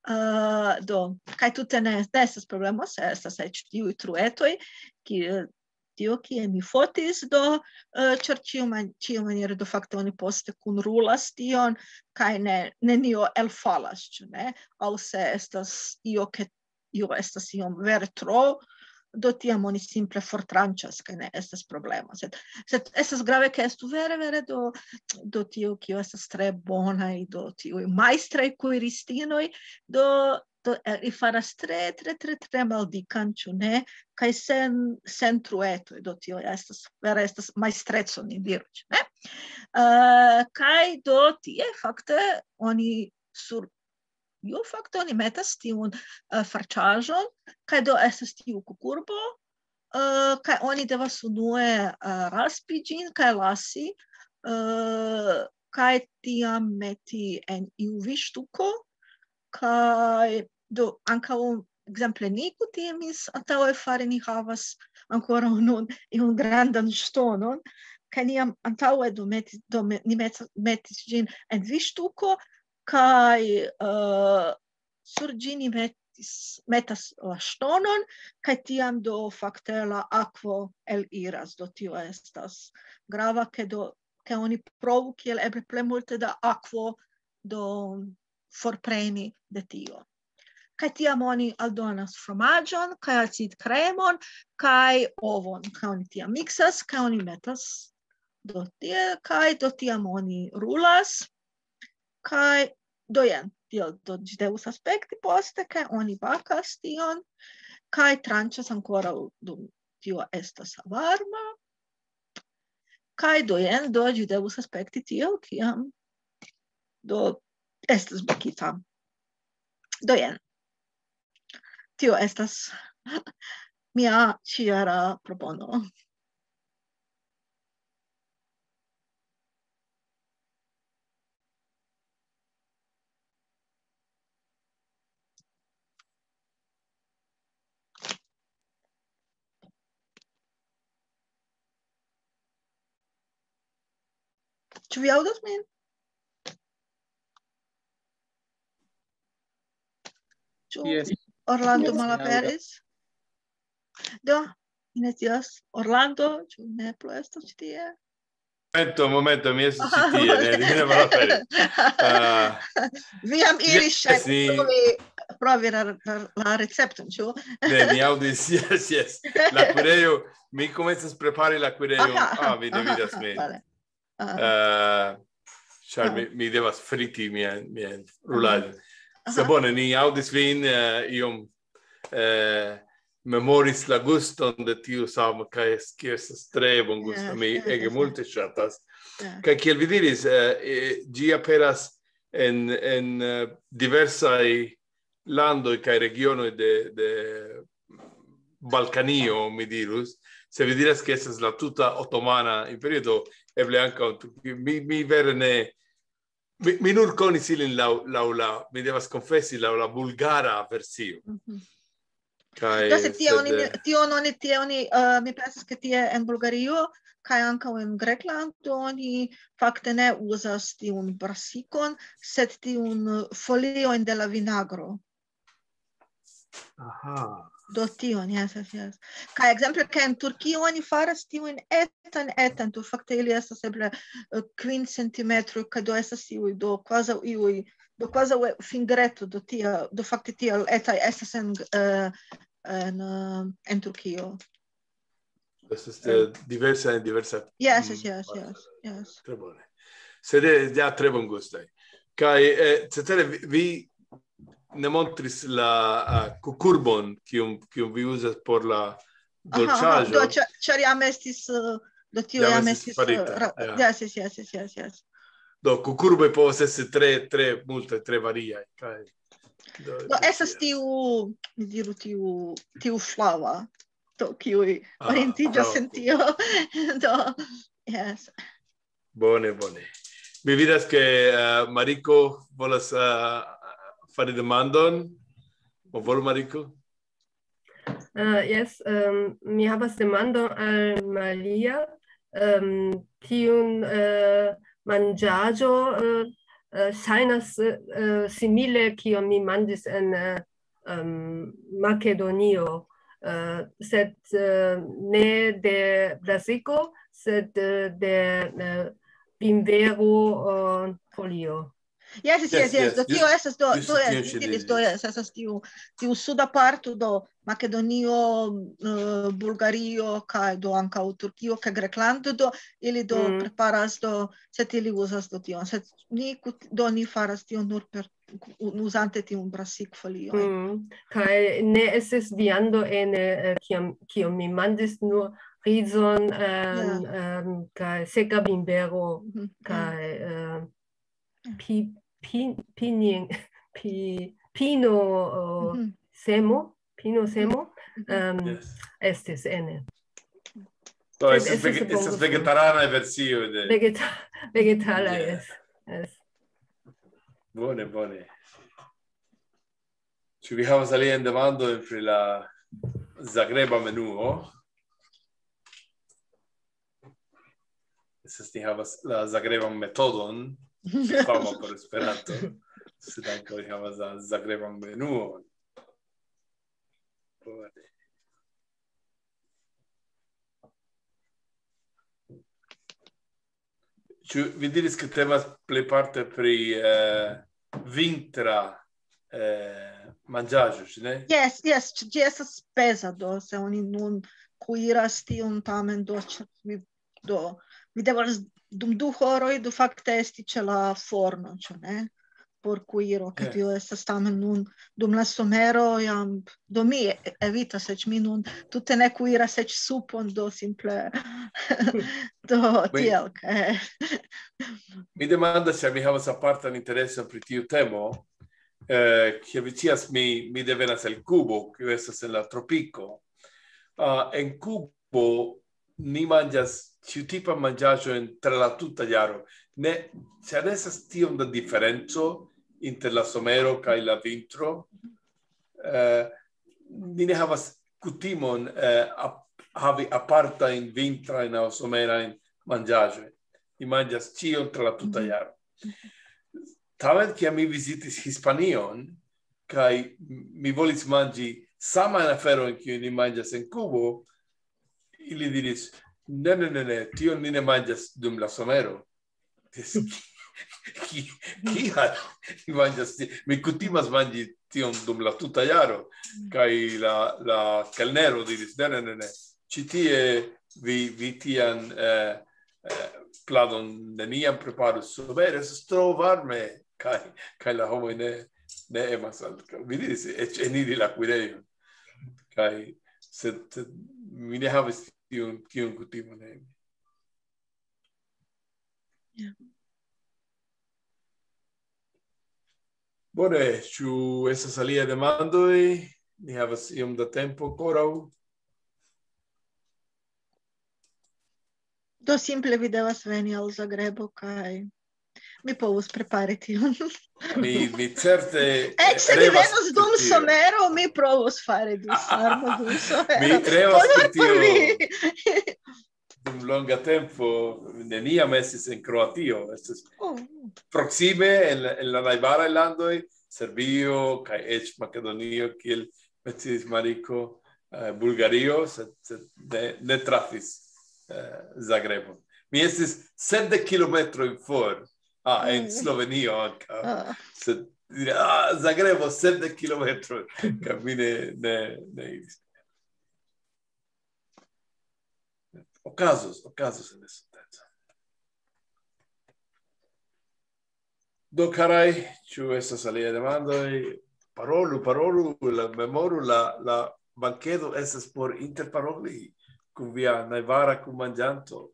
Eh, do, kaj tute ne, ne estas problemo, se estas eĉ tiuj truetoj, ki-, tio, kie mi fotis, do, eh, ĉar ĉiu man-, ĉiu maniere, do fakte oni poste kunrulas tion, kaj ne, nenio elfalas, ĉu ne? Aŭ se estas io, ke io estas iom vere tro, do tiam oni simple fortranĉas, kaj ne estas problemo. Sed, sed estas grave, ke estu vere, vere do, do tio, kio estas tre bonaj, do tiuj majstraj kuiristinoj, do, do, eh, li faras tre, tre, tre, tre maldikan, ĉu ne? Kaj sen, sen truetoj, do tio estas, vere estas majstreco, ni diru, ĉu ne? Eh, kaj do tie, fakte, oni sur io fakte oni metas tiun, eh, farĉaĵon, kaj do estas tiu kukurbo, eh, kaj oni devas unue, eh, raspi ĝin kaj lasi, eh, kaj tiam meti en iu viŝtuko, kaj do ankaŭ, ekzemple, ni kutimis antaŭe fari, ni havas ankoraŭ nun iun grandan ŝtonon, kaj ni jam antaŭe do meti-, do me-, ni met-, metis ĝin en viŝtuko, kaj, eh, sur ĝi ni metis, metas la ŝtonon, kaj tiam do fakte la akvo eliras, do tio estas grava, ke do, ke oni provu kiel eble plej multe da akvo do forpreni de tio. Kaj tiam oni aldonas fromaĝon, kaj acidkremon, kaj ovon, kaj oni tiam miksas, kaj oni metas do tie, kaj do tiam oni rulas, kaj do jen, tiel do ĝi devus aspekti poste, kaj oni bakas tion, kaj tranĉas ankoraŭ dum tio estas varma, kaj do jen, do ĝi devus aspekti tiel, kiam do estas bakita. Do jen, tio estas mia ĉiara propono. Ĉu vi aŭdas min? Ĉu Yes. Orlando Yes. malaperis? Do, mi ne scias. Orlando, ĉu ne plu estas ĉi tie? Momento, momento, mi estas ĉi tie, ne, mi ne malaperis. Ah, Vi jam iris yes, ŝajne ni provi, provi la, la, la recepton, ĉu? Ne, ni aŭdis, yes, yes. La kuirejo, mi komencas prepari la kuirejon. Aha, aha, Ah, vi ne aha, vidas aha, min. vale. Aha. Eh, ĉar Aha. mi, mi devas friti mian, mian Aha. rulaĵon. Aha. Se bone, ni aŭdis vin, eh, iom, eh, memoris la guston de tiu samo, kaj es-, kiu estas tre bongusta. Ja, Mi ja, ege ja, ja. multe ŝatas. Ja. Kaj kiel vi diris, eh, eh, ĝi aperas en, en, eh, diversaj landoj kaj regionoj de, de Balkanio, mi dirus. Se vi diras, ke estas la tuta Otomana Imperio, do eble ankaŭ tu-, mi, mi vere ne, mi, mi nur konis ilin laŭ, laŭ la, mi devas konfesi, laŭ la bulgara versio. Mhm. Kaj Do se tie sed, oni ne, eh, tion oni, tie oni, eh, mi pensas, ke tie en Bulgario, kaj ankaŭ en Grekland, oni fakte ne uzas tiun brasikon, sed tiun, eh, foliojn de la vinagro. Aha. Do tion, yes, yes, yes. Kaj ekzemple, ke en Turkio oni faras tiujn etan, etan, do fakte ili estas eble, eh, kvin centimetroj, kaj do estas iuj, do kvazaŭ iuj, do kvazaŭ, eh, fingreto, do tia, do fakte tiel etaj estas en, eh, en, eh, en Turkio. Estas, eh, diversa en diversa, Yes, mm, yes, yes, yes, yes. Tre bone. Sed, eh, ja tre bongustaj. Kaj, eh, cetere vi, vi ne montris la, ah, kukurbon, kiun, kiun vi uzas por la Aha, aha, dolĉaĵo. do, ĉa-, ĉar jam estis, eh, do tio Jam jam estis estis, eh, farita, ra-, ja. yes, yes, yes, yes, yes, yes. Do, kukurboj povas esti tre, tre multe, tre variaj, kaj Do, do estas tiu, mi diru, tiu, tiu flava, do kiuj orientiĝas en tio. Do, yes. Bone, bone. Mi vidas, ke uh, Mariko volas uh, fari demandon. Bonvolu, Mariko. Uh, yes, um, mi havas demandon al Malia. Um, tiun uh, manĝaĵo uh, uh, ŝajnas uh, simile kion mi manĝis en uh, um, Makedonio, uh, sed uh, ne de brasiko, sed uh, de uh, bimvero uh, folio. Yes, yes, yes, yes. Do tio estas do do yes, do yes, estas tiu tiu suda parto do Makedonio, uh, Bulgario, kaj do ankaŭ Turkio, kaj Greklando do ili do mm. preparas do, sed ili uzas do tion, sed ni do ni faras tion nur per uzante tiun brasikfolio. Mm. Kaj ne estis viando en eh, kiam kiam mi manĝis nur rizon um, yeah. um, kaj seka bimbero mm. kaj uh, pi, pi, pinin, pi, pino uh, mm -hmm. semo, pino semo um, yes. Estis ene. Estas vegetariana versio de... Vegeta vegetala, yeah. Yes. Yes. Bone, bone. Ĉu vi havas aliajn demandojn pri la Zagreba menuo? Estas ni havas la Zagreban metodon, fama por Esperanto, sed ankaŭ ni havas la Zagreban menuon. Ĉu vi diris, ke temas plejparte pri eh, vintra eh, manĝaĵo, ne? Yes, yes, ĝi estas peza, do se oni nun kuiras tiun tamen do mi do mi devas dum du horoj do fakte esti ĉe la forno, ĉu ne? Por kuiro, ke tio estas tamen nun dum la somero jam do mi evitas, eĉ mi nun tute ne kuiras eĉ supon, do simple do tiel ke mi demandas se mi havas apartan intereson pri tiu temo, eh, kiel vi scias mi mi devenas el Kubo, kiu estas en la tropiko. Uh, en Kubo ni manĝas ĉiutipan manĝaĵon tra la tuta jaro. Ne, ĉar ne estas tiom da diferenco inter la somero kaj la vintro. Uh, ni ne havas kutimon uh, ap havi apartajn vintrajn aŭ somerajn manĝaĵojn. Ni manĝas ĉion tra la tuta jaro. Tamen, kiam mi vizitis Hispanion, kaj mi volis manĝi samajn aferojn, kiujn ni manĝas en Kubo, ili diris, ne, ne, ne, ne, tion ni ne manĝas dum la somero. Kial? Mi manĝas, mi kutimas manĝi tion dum la tuta jaro. Kaj la, la kelnero diris, ne, ne, ne, ne. Ĉi tie vi, vi tian eh, eh, pladon neniam preparus. Vere, estas tro varme, kaj, kaj la homoj ne, ne emas al... Vi diris, eĉ eniri la kuirejon. Kaj, sed, sed mi ne havis tiun, tiun kutimon. Yeah. Bone, ĉu estas aliaj demandoj? Ni havas iom da tempo ankoraŭ. Do simple vi devas veni al Zagrebo kaj mi povus prepari tion. Mi, mi certe... Eĉ se vi venos dum somero, mi provos fari dum somero. Mi revas pri tio. Dum longa tempo neniam estis en Kroatio. Estas oh. Proksime en, en la najbaraj landoj, Serbio kaj eĉ Makedonio, kiel metis Mariko, eh, Bulgario, sed, sed ne, ne trafis eh, Zagrebon. Mi estis sepdek kilometroj for. Ah, en mm. Slovenio ankaŭ. Ah. Sed ah, Zagrebo sepdek kilometroj. Kaj mi ne, ne, ne iris. Okazos, okazos en estonteco. Do, karaj, ĉu estas aliaj demandoj? Parolu, parolu, la, memoru, la, la bankedo estas por interparoli kun via najbara kunmanĝanto.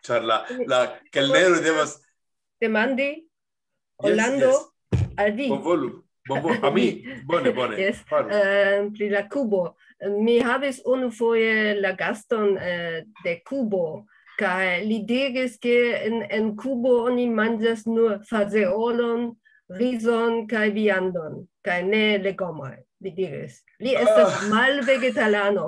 Ĉar la, la kelnero devas... Demandi, Orlando, yes, yes. Al vi. Bonvolu. Bon, bon, a mi, bone, bone. Yes. Faru. Eh, pri la kubo. Mi havis unufoje la gaston, eh, de Kubo, kaj li diris, ke en, en Kubo oni manĝas nur fazeolon, rizon kaj viandon, kaj ne legomoj, li diris. Li estas Ah. Malvegetalano.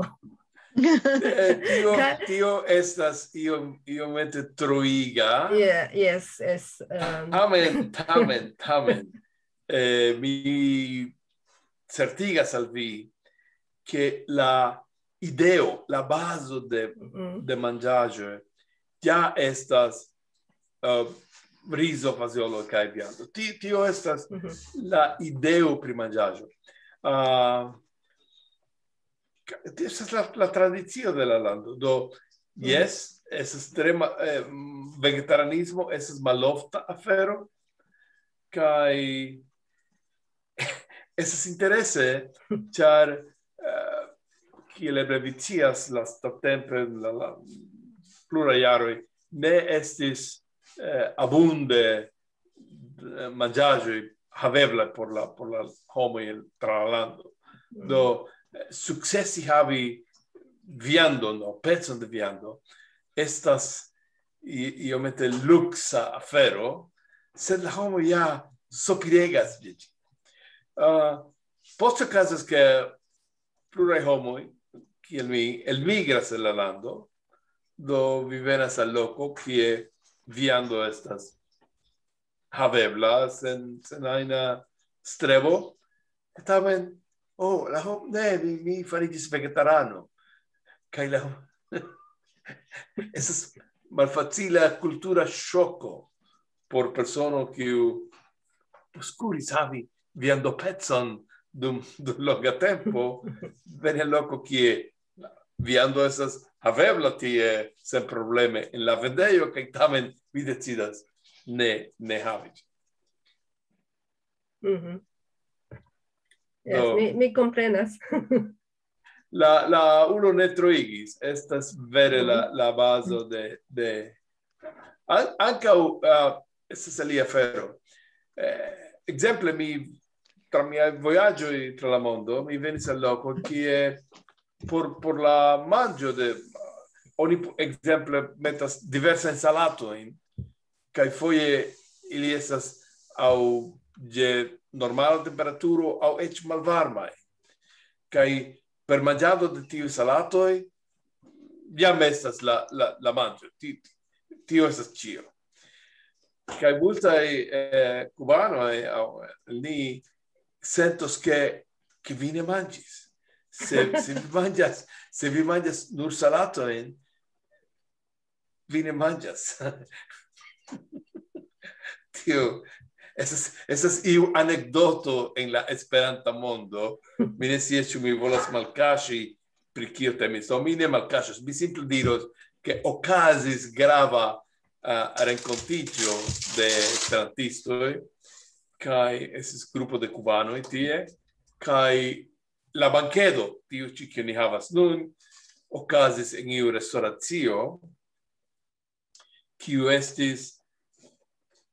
Eh, tio, Ka- tio estas iom, iomete troiga. Yeah, yes, yes. Um, Tamen, tamen, tamen. Eh, mi certigas al vi, ke la ideo, la bazo de, mm, de manĝaĵoj ja estas, eh, rizo, fazeolo kaj viando. Ti-, tio estas mhm. La ideo pri manĝaĵo. Ah, ka-, tio estas la, la tradicio de la lando. Do, jes, estas tre ma-, eh, vegetarianismo estas malofta afero, kaj estas interese, ĉar, eh, kiel eble vi scias, lastatempe, la, la, pluraj jaroj, ne estis, eh, abunde, eh, manĝaĵoj haveblaj por la, por la homoj en, tra la lando. Do, eh, sukcesi havi viandon, o pecon de viando, estas i-, iomete luksa afero, sed la homo ja sopiregas je ĝi. Ah, poste okazas, ke pluraj homoj, kiel mi, elmigras el la lando, do vi venas al loko, kie viando estas havebla sen, sen ajna strebo. Tamen, oh, la hom-, ne, mi, mi fariĝis vegetarano. Kaj la hom-, estas malfacila kultura ŝoko por persono, kiu poskuris havi viandopecon dum, dum longa tempo, veni al loko, kie viando estas havebla tie senprobleme en la vendejo, kaj tamen vi decidas ne, ne havi. Mhm. Yes, Do- mi, mi komprenas. La, la ulo ne troigis, estas vere la, la bazo de, de, an-, ankaŭ, ah, estas alia afero. Eh, ekzemple, mi, tra miaj vojaĝoj tra la mondo, mi venis al loko, kie por, por la manĝo de, oni po-, ekzemple metas diversajn salatojn, kaj foje ili estas aŭ je normala temperaturo aŭ eĉ malvarmaj. Kaj per manĝado de tiuj salatoj jam estas la, la, la manĝo. Ti-, tio estas ĉio. Kaj multaj, eh, kubanoj aŭ, eh, ni sentos, ke, ke vi ne manĝis. Se, se vi manĝas, se vi manĝas nur salatojn, vi ne manĝas. Tio estas, estas iu anekdoto en la Esperanta mondo. Mi ne scias, ĉu mi volas malkaŝi, pri kio temis. Do mi ne malkaŝos, mi simple diros, ke okazis grava, ah, renkontiĝo de esperantistoj, kaj estis grupo de kubanoj tie, kaj la bankedo, tiu ĉi, kiu ni havas nun, okazis en iu restoracio, kiu estis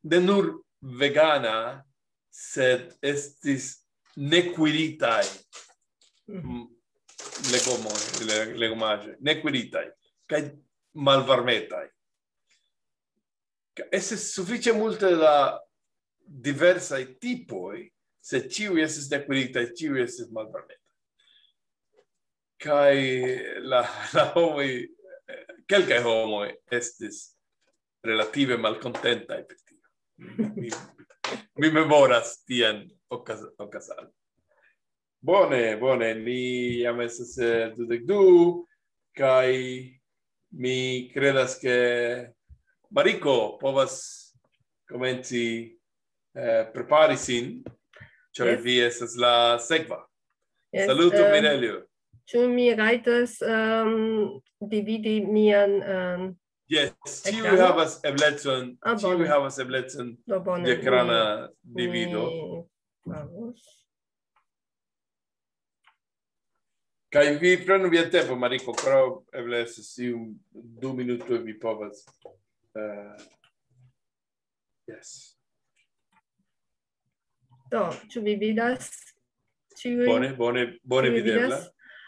ne nur vegana, sed estis nekuiritaj, Mhm. mm, legomoj, le-, legomaĵoj, nekuiritaj, kaj malvarmetaj. Ka-, estis sufiĉe multe da diversaj tipoj, sed ĉiuj estis nekuiritaj, ĉiuj estis malvarmetaj. Kaj la, la homoj, eh, kelkaj homoj estis relative malkontentaj pri tio. Mi, mi memoras tian okaz-, okazadon. Bone, bone, ni jam estas, eh, dudek du, kaj mi kredas, ke Mariko povas komenci, eh, prepari sin, ĉar Yes. vi estas la sekva. Yes, Salutu, um, Mirelio. Ĉu mi rajtas, um, dividi mian, um, Yes, ĉiuj ekrano? Havas eblecon, Ah, ĉiuj bone. Havas eblecon Do bone, de ekrana mi, divido. Mi faros. Kaj vi prenu vian tempo, Mariko, pro eble estas iom du minutoj vi povas. Eh, yes. Do, ĉu vi vidas? Ĉiuj? Bone, bone, bone Ĉu vi videbla. Vidas?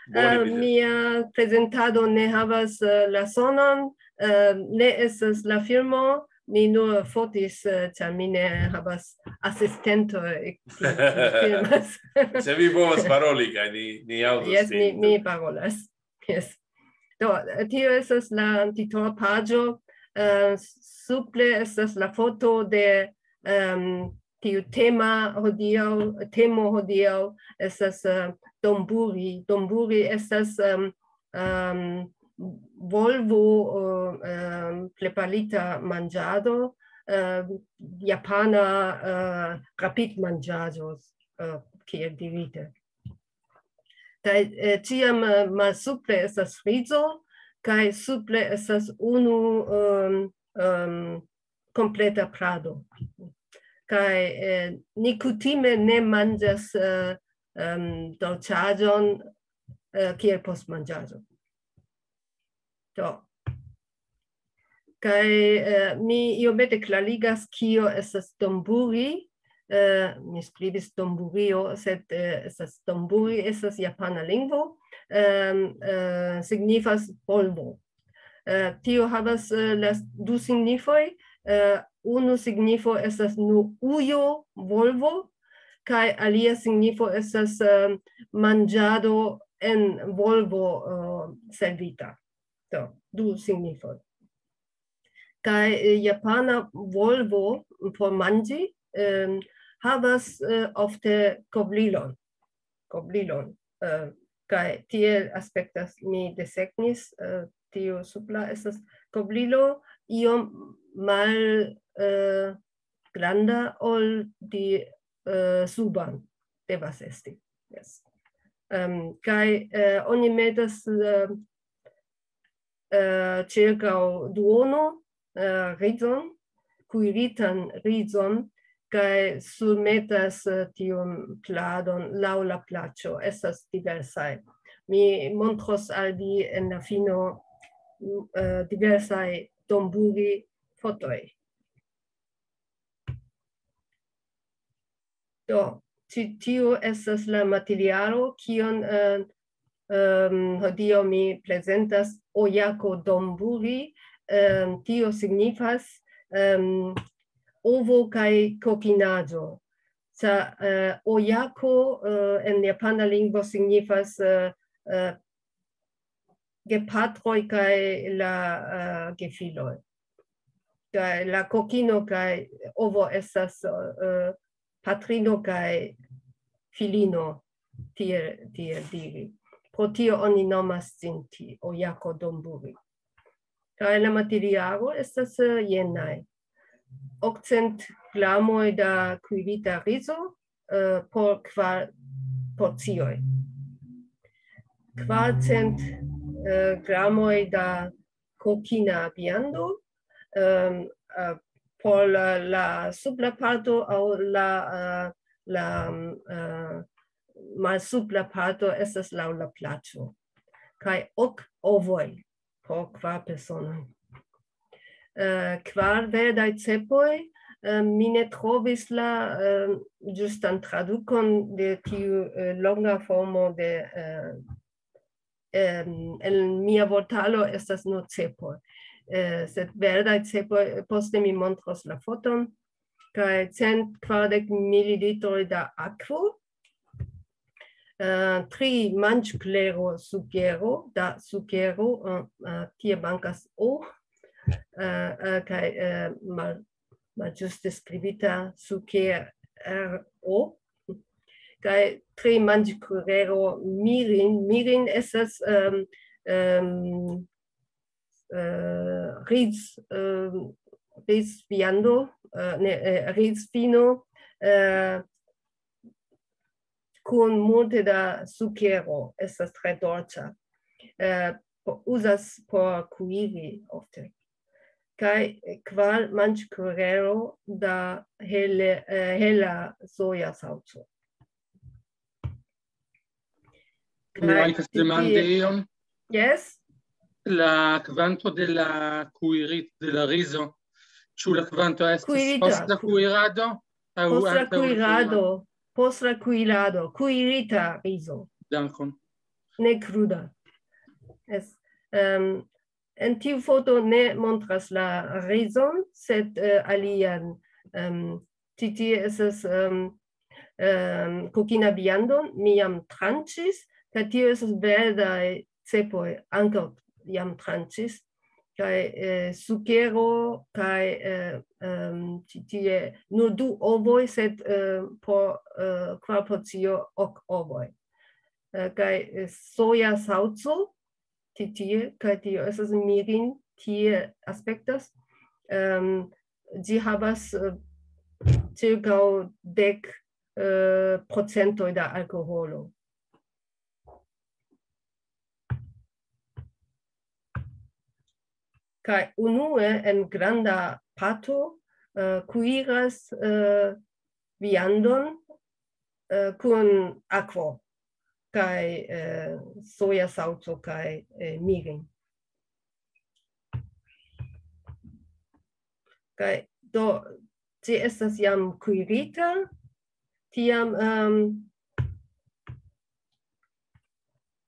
Bone Eh, videbla. Mia prezentado ne havas eh, la sonon, eh, ne estas la filmo, mi nur fotis, eh, ĉar mi ne havas asistento, eh, kiu kiu filmas. Se vi povas paroli, kaj ni, ni aŭdos Jes, mi, vin. Mi parolas. Yes. Do, eh, tio estas la titola paĝo. Eh, supre estas la foto de em, tiu tema hodiaŭ, temo hodiaŭ estas eh, donburi. Donburi estas em, em, volvo, eh, em, preparita manĝado, eh, japana eh, rapidmanĝaĵo, eh, kiel dirite. Kaj eh, ĉiam eh, malsupre estas frizo, kaj supre estas unu em, em, kompleta prado. Kaj eh, ni kutime ne manĝas eh, em, dolĉaĵon eh, kiel postmanĝaĵo. Do. Kaj eh, mi iomete klarigas, kio estas donburi. Eh, mi skribis donburio, sed eh, estas donburi, estas japana lingvo. Em, eh, signifas polvo. Eh, tio havas eh, las du signifoj. Eh, unu signifo estas nu ujo volvo, kaj alia signifo estas eh, manĝado en volvo eh, servita. Do, du signifoj. Kaj eh, japana volvo por manĝi em, havas eh, ofte kovrilon. Kovrilon. Eh, kaj tiel aspektas, mi desegnis, eh, tiu supra estas kovrilo iom mal eh, granda ol di eh, suban devas esti. Yes. Em, kaj eh, oni metas eh, eh, ĉirkaŭ duono eh, rizon, kuiritan rizon, kaj surmetas eh, tiun pladon laŭ la plaĉo. Estas diversaj. Mi montros al vi en la fino eh, diversaj donburi fotoj. Do, ĉi tiu estas la materialo, kion eh, em, hodiaŭ mi prezentas, ojako donburi. Em, tio signifas em, ovo kaj kokinaĵo. Ĉar eh, ojako eh, en japana lingvo signifas eh, eh, gepatroj kaj la eh, gefiloj. Kaj la kokino kaj ovo estas eh, patrino kaj filino, tiel, tiel diri. Pro tio oni nomas ĝin ti, ojako donburi. Kaj la materialo estas eh, jenaj. Okcent gramoj da kuirita rizo eh, por kvar porcioj. Kvarcent eh, gramoj da kokina viando em, eh, por la, la supra parto aŭ la, eh, la eh, malsupra parto estas laŭ la plaĉo. Kaj ok ovoj por kvar personoj. Eh, kvar verdaj cepoj, eh, mi ne trovis la eh, ĝustan tradukon de tiu eh, longa formo de eh, em, en mia vortaro estas nur cepoj. Eh, sed verdaj cepoj, poste mi montros la foton, kaj cent kvardek mililitroj da akvo, eh, tri manĝklero sukero, da sukero, eh, eh, tie mankas o, eh, eh, kaj eh, mal, malĝuste skribita sukero, kaj tri manĝklero mirin. Mirin estas em, em, eh, riz, em, rizviando, eh, ne, eh, rizvino, eh, kun multe da sukero, estas tre dolĉa. Eh, po- uzas por kuiri ofte. Kaj kvar manĝklero da hele, eh, hela soja salco. Mi rajtas demandi ion. Yes? La kvanto de la kuirit de la rizo. Ĉu la kvanto estas Kuirita, post la ku- kuirado Post la kuirado, post la kuirado, kuirita rizo. Dankon. Ne kruda. Es, um, en tiu foto ne montras la rizon, sed uh, alian. Um, Ĉi tie estas um, um, kokina viandon, mi jam tranĉis, kaj tio estas verdaj cepoj, ankaŭ jam tranĉis, kaj eh, sukero, kaj eh, um, ĉi tie nur du ovoj, sed eh, por eh, kvar porcio ok ovoj. Eh, kaj eh, soja salco, ĉi tie, kaj tio estas mirin, tie aspektas. Um, ĝi havas eh, ĉirkaŭ dek eh, procentoj da alkoholo. Kaj unue en granda pato uh, kuiras uh, viandon uh, kun akvo kaj uh, soja salco kaj uh, mirin. Kaj do, ĝi estas jam kuirita, tiam um,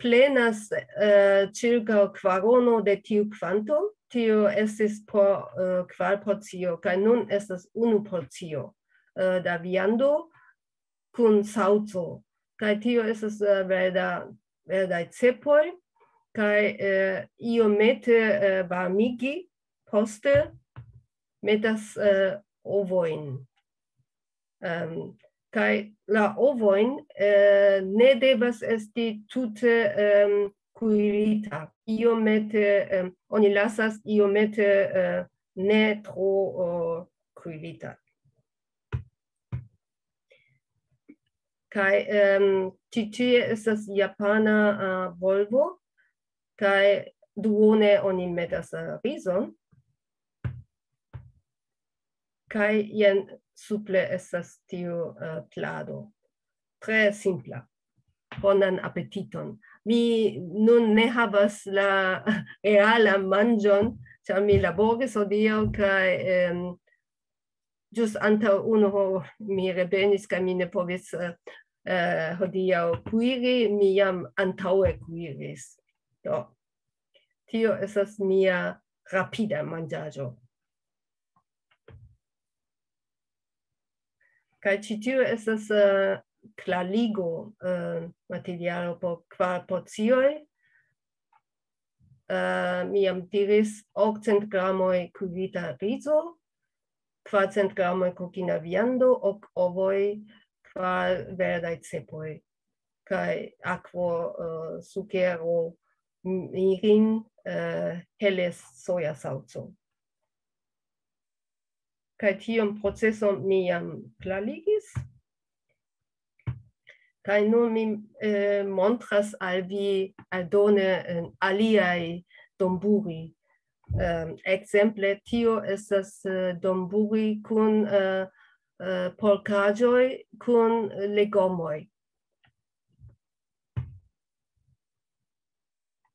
plenas uh, ĉirkaŭ kvarono de tiu kvanto, tio estis por uh, kvar porcio, kaj nun estas unu porcio uh, da viando kun salco, kaj tio estas uh, verda, verdaj cepoj, kaj uh, iomete uh, varmigi, poste metas uh, ovojn. Um, kaj la ovojn uh, ne devas esti tute um, kuirita. Iomete, um, oni lasas iomete uh, ne tro uh, kuirita. Kaj um, ĉi tie estas japana uh, volvo, kaj duone oni metas uh, rizon, kaj jen supre estas tiu uh, plado. Tre simpla. Bonan apetiton. Mi nun ne havas la realan manĝon, ĉar mi laboris hodiaŭ kaj um, ĝus antaŭ unu horo mi revenis kaj mi ne povis uh, uh, hodiaŭ kuiri, mi jam antaŭe kuiris. Do, tio estas mia rapida manĝaĵo. Kaj ĉi tio estas uh, klarigo uh, materialo por kvar porcioj. Uh, mi jam diris okcent gramoj kuirita rizo, kvarcent gramoj kokina viando, ok ovoj, kvar verdaj cepoj, kaj akvo, uh, sukero, mirin, uh, hele soja salco. Kaj tiun proceson mi jam klarigis. Kaj nun mi eh, montras al vi aldone eh, aliaj donburi. Eh, ekzemple, tio estas eh, donburi kun eh, eh, polkaĵoj, kun legomoj.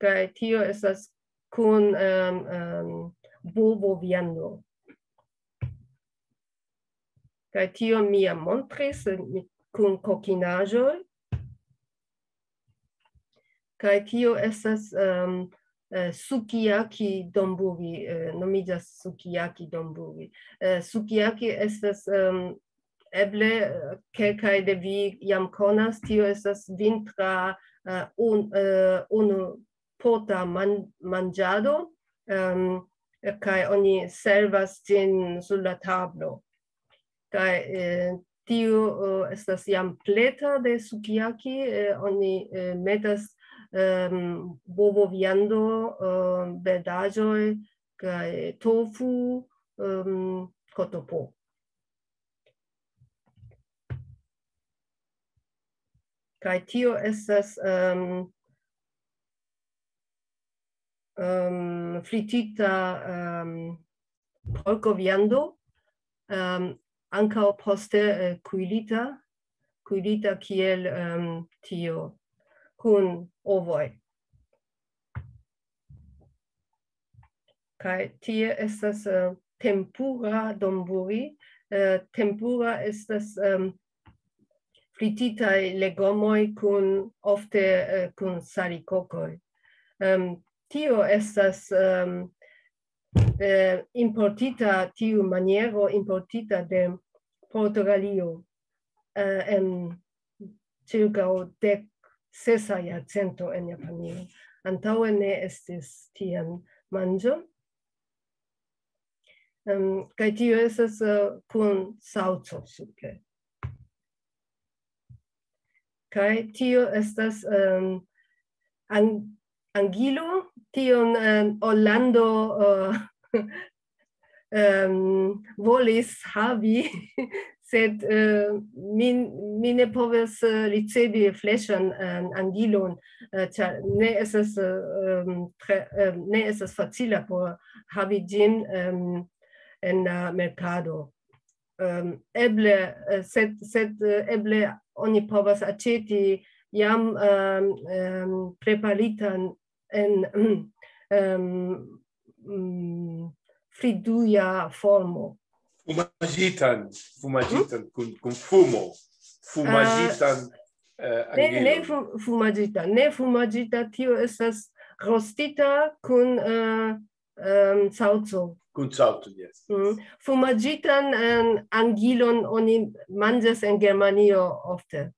Kaj tio estas kun um, um, bovo viando. Kaj tio mi jam montris eh, kun kokinaĵoj. Kaj tio estas um, eh, sukiyaki donburi, eh, nomiĝas sukiyaki donburi. Eh, sukiyaki estas um, eble eh, kelkaj de vi jam konas, tio estas vintra uh, un, uh, unu pota man, manĝado, um, kaj oni servas ĝin sur la tablo. Kaj eh, tiu uh, estas jam pleta de sukiyaki, eh, oni eh, metas um, bovo viando, uh, verdaĵoj, kaj tofu, um, kotopo. Kaj tio estas um, um, fritita um, porko viando, um, ankaŭ poste uh, kuirita, kuirita kiel um, tio, kun ovoj. Kaj tie estas uh, tempura donburi, Eh, tempura estas, em, frititaj legomoj kun, ofte, eh, kun salikokoj. Em, tio estas, em, eh, importita, tiu maniero importita de Portugalio, eh, en ĉirkaŭ dek sesa jarcento en Japanio. Antaŭe ne estis tian manĝon. Em, kaj tio estas, eh, kun salco supre. Kaj tio estas, em, an-, angilo, tion, em, Orlando, eh, em, volis havi, sed, eh, mi, mi ne povas, eh, ricevi freŝan, em, angilon, eh, ĉar ne estas, eh, em, tre, em, ne estas facila por havi ĝin, em, en la merkado. Em, eble, eh, sed, sed, eh, eble oni povas aĉeti jam, em, em, preparitan en, em, mm, friduja formo. Fumaĝitan, fumaĝitan kun, kun fumo. Fumaĝitan, eh, Ne, ne angilon. Fu-, fumaĝita, ne fumaĝita, tio estas rostita kun, eh, em, salco. Kun salco, yes. Mm. Fumaĝitan, em, angilon oni manĝas en Germanio ofte.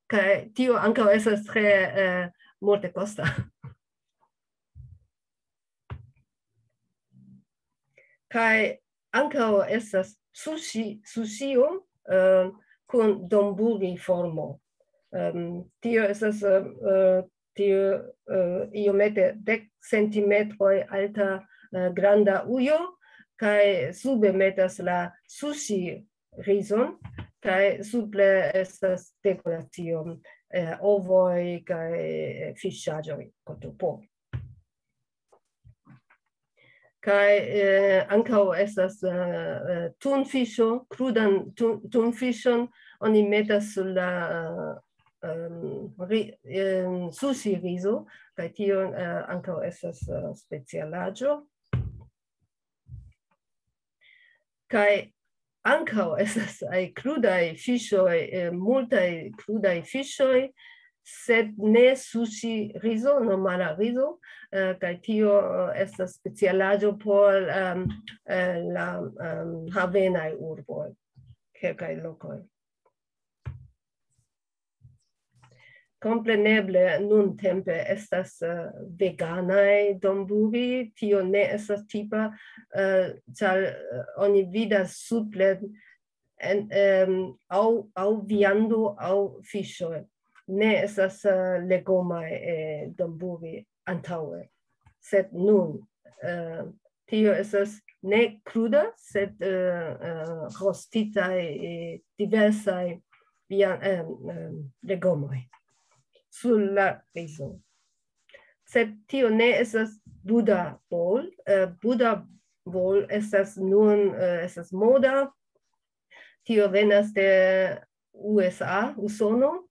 Kaj tio ankaŭ estas tre, eh, multekosta. Kaj ankaŭ estas sushi, sushio, eh, kun donburi formo. Em, tio estas, eh, eh, tio, eh, iomete dek centimetroj alta, eh, granda ujo, kaj sube metas la sushi rizon, kaj supre estas dekoracio, eh, ovoj kaj, eh, fiŝaĵoj, kotopo. Kaj, eh, ankaŭ estas, eh, eh, tunfiŝo, krudan tun-, tunfiŝon oni metas sur la, eh, em, ri-, em, sushi rizo, kaj tio, eh, ankaŭ estas, eh, specialaĵo. Kaj ankaŭ estas aj krudaj fiŝoj, eh, multaj krudaj fiŝoj, sed ne sushi rizo, normala rizo, eh, kaj tio, eh, estas specialaĵo por, em, eh, la, em, havenaj urboj, kelkaj lokoj. Kompreneble nuntempe estas, eh, veganaj donburi, tio ne estas tipa, eh, ĉar, eh, oni vidas supre en, em, aŭ, aŭ viando aŭ fiŝoj. Ne estas, eh, legomaj, eh, donburi antaŭe. Sed nun, eh, tio estas ne kruda, sed, eh, eh, rostitaj, eh, diversaj via-, em, em, legomoj sur la rizo. Sed tio ne estas Buddha Bowl. Eh, Buddha Bowl estas nun, eh, estas moda. Tio venas de U S A, Usono.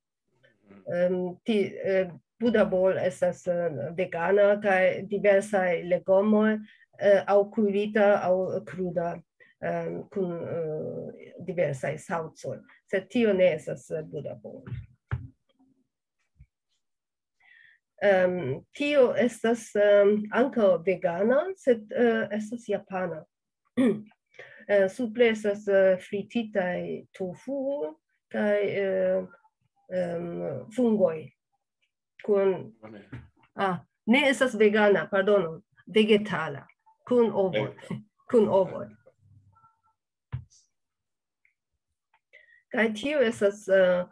Em, ti-, eh, Buddha Bowl estas, eh, vegana kaj diversaj legomoj, eh, aŭ kuirita aŭ kruda, em, kun, eh, diversaj salcoj. Sed tio ne estas, eh, Buddha Bowl. Em, tio estas, em, ankaŭ vegana, sed, eh, estas japana. Eh, supre estas, eh, frititaj tofu kaj, eh, em, fungoj. Kun, Bone. Ah, ne estas vegana, pardono, vegetala, kun ovoj, Vegeta-, kun ovoj. Kaj tio estas, eh,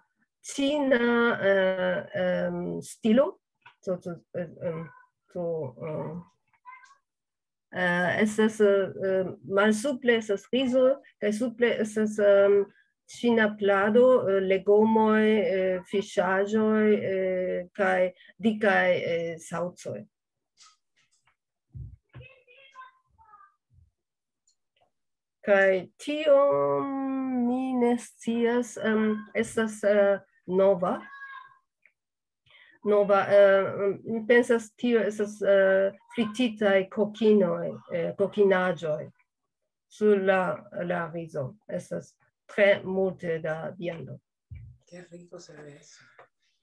ĉina, eh, em, stilo. So, so, eh, em, so, eh, eh, estas, eh, eh, malsupre estas rizo, kaj supre estas, em, ĉina plado, eh, legomoj, eh, fiŝaĵoj, eh, kaj dikaj, eh, salcoj. Kaj tio mi ne scias, em, estas, eh, nova. Nova, eh, mi pensas, tio estas, eh, frititaj kokinoj, eh, kokinaĵoj. sur la, la rizo. Estas tre multe da viando. Qué rico se ve eso.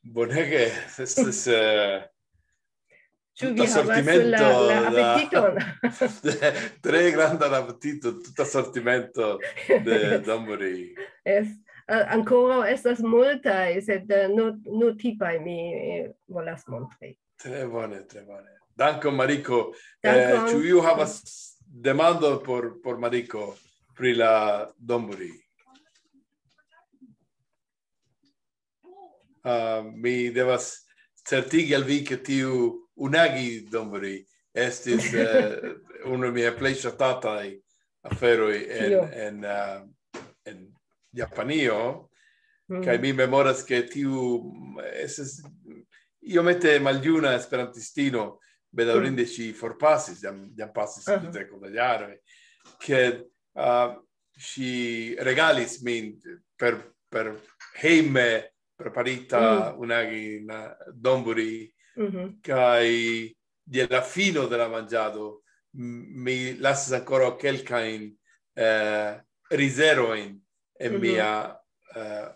Bonege, estas eh, Ĉu tuta vi havas sortimento la, la da- apetiton? Tre grandan apetiton, tuta sortimento de donburi. Es, uh, ankoraŭ estas multaj, sed uh, nur, nur tipaj mi eh, volas montri. Tre bone, tre bone. Dankon, Mariko. Eh, Dankon. Ĉu iu havas demando por, por Mariko pri la donburi? Uh, mi devas certigi al vi, ke tiu unagi donburi estis eh, unu el miaj plej ŝatataj aferoj en, Kio? en, uh, en Japanio. Mm. Kaj mi memoras, ke tiu mm, estis iomete maljuna esperantistino, bedaŭrinde ŝi forpasis, jam, jam pasis Aha. Trideko da jaroj, ke uh, ŝi regalis min per, per hejme preparita Mm. unagi na donburi, Mhm. kaj je la fino de la manĝado m- mi lasis ankoraŭ kelkajn eh, rizerojn en Mhm. mia eh,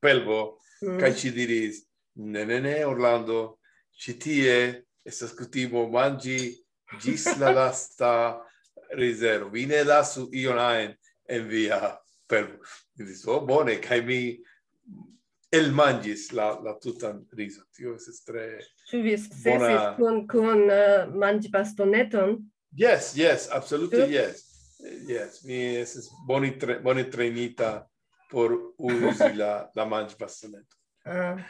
pelvo, Mm. kaj ŝi diris: "Ne, ne, ne, Orlando, ĉi tie estas kutimo manĝi ĝis la lasta rizero. Vi ne lasu ion ajn en via pelvo." Mi diris: "Oh, bone," kaj mi elmanĝis la, la tutan rizon. Tio estis tre Ĉu vi sukcesis Bona- kun, kun uh, manĝbastoneton? Yes, yes, absolutely Ĉu? Yes. Yes, mi estis bone tre, bone trenita por uzi la, la manĝbastoneton. Uh,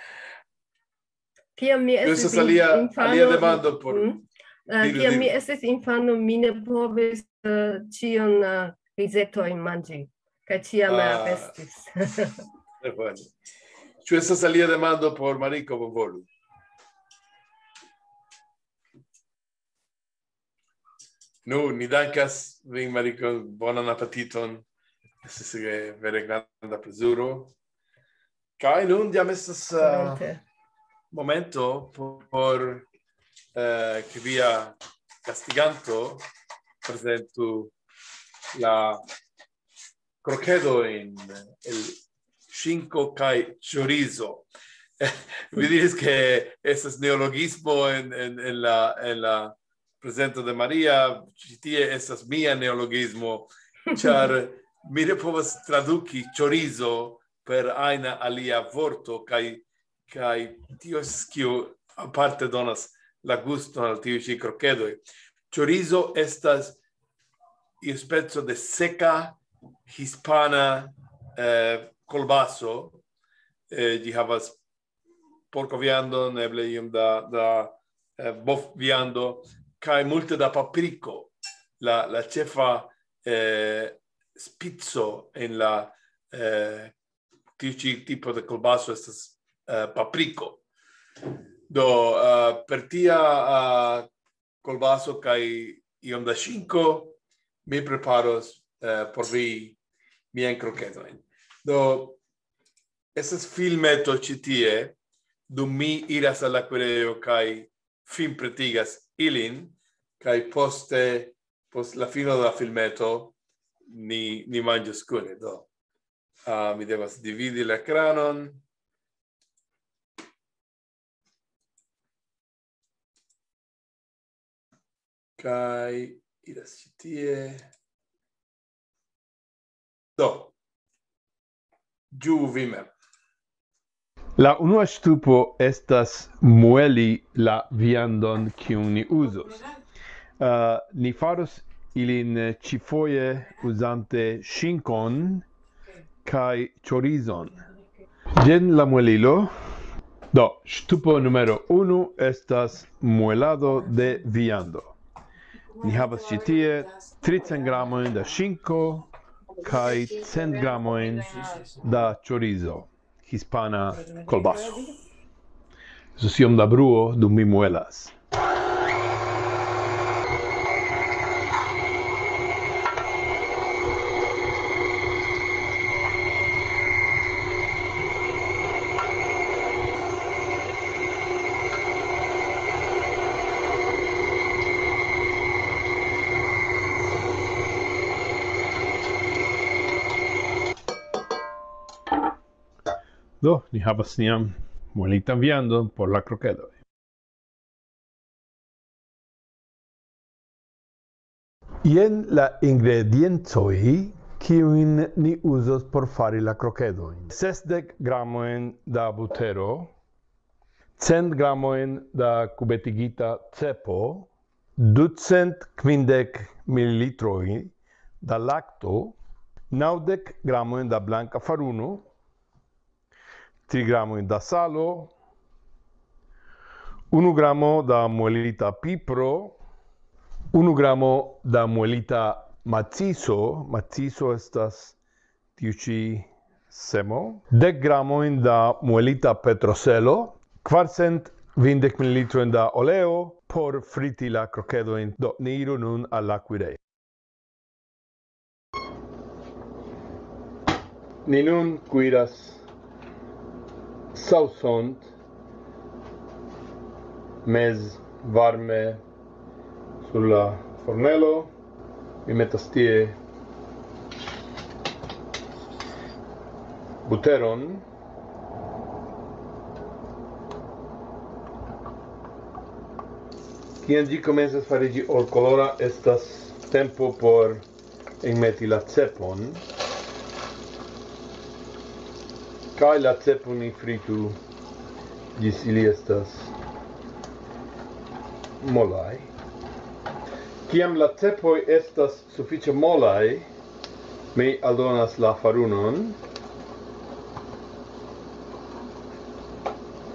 kiam mi Tio estis estas alia, infano, alia demando por Mm. Uh, diru, kiam mi diru. estis infano, mi ne povis uh, ĉion uh, rizetojn manĝi. Kaj ĉiam Ah. Arestis. Tre bone. Ĉu estas alia demando por Mariko? Bonvolu. Nu, ni dankas vin, Mariko. Bonan apetiton. Estis eh, vere granda plezuro. Kaj nun jam estas uh, Volonte. momento por eh, ke via gastiganto prezentu la krokedojn el ŝinko kaj chorizo. Vi diris, ke estas neologismo en, en, en, la, en la prezento de Maria. Ĉi tie estas mia neologismo, ĉar mi ne povas traduki chorizo per ajna alia vorto, kaj, kaj tio estas, kio aparte donas la guston al tiuj ĉi krokedoj. Chorizo estas iu speco de seka hispana eh, kolbaso. Eh, ĝi havas porkoviandon, eble iom da, da eh, bovviando, kaj multe da papriko. La, la ĉefa eh, spico en la eh, tiu ĉi tipo de kolbaso estas eh, papriko. Do, eh, per tia eh, kolbaso kaj iom da ŝinko, mi preparos eh, por vi miajn krokedojn. Do, estas filmeto ĉi tie, dum mi iras al la kuirejo kaj finpretigas ilin, kaj poste, post la fino de la filmeto, ni, ni manĝos kune. Do, uh, mi devas dividi la ekranon. Kaj iras ĉi tie. Do, ĝuu vi mem. La unua ŝtupo estas mueli la viandon, kiun ni uzos. Uh, ni faros ilin ĉifoje uzante ŝinkon kaj ĉorizon. Jen la muelilo. Do, ŝtupo numero unu estas muelado de viando. Ni havas ĉi tie tricent gramojn da ŝinko kaj cent gramojn da chorizo, hispana kolbaso. Estos iom da bruo dum mi muelas. Do, ni havas nian muelitan viandon por la krokedoj. Jen la ingrediencoj, kiujn ni uzos por fari la krokedojn. Sesdek gramojn da butero, cent gramojn da kubetigita cepo, ducent kvindek mililitroj da lakto, naŭdek gramojn da blanka faruno, tri gramojn da salo, unu gramo da muelita pipro, unu gramo da muelita maciso, maciso estas tiu ĉi semo, dek gramojn da muelita petroselo, kvarcent kvindek mililitrojn da oleo por friti la krokedojn. Do, ni iru nun al la kuirejo. Ni nun kuiras saŭson mez varme sur la fornelo. Mi metas tie buteron. Kiam ĝi komencas fariĝi olkolora, estas tempo por enmeti la cepon. Kaj la cepon ni fritu ĝis ili estas molaj. Kiam la cepoj estas sufiĉe molaj, mi aldonas la farunon.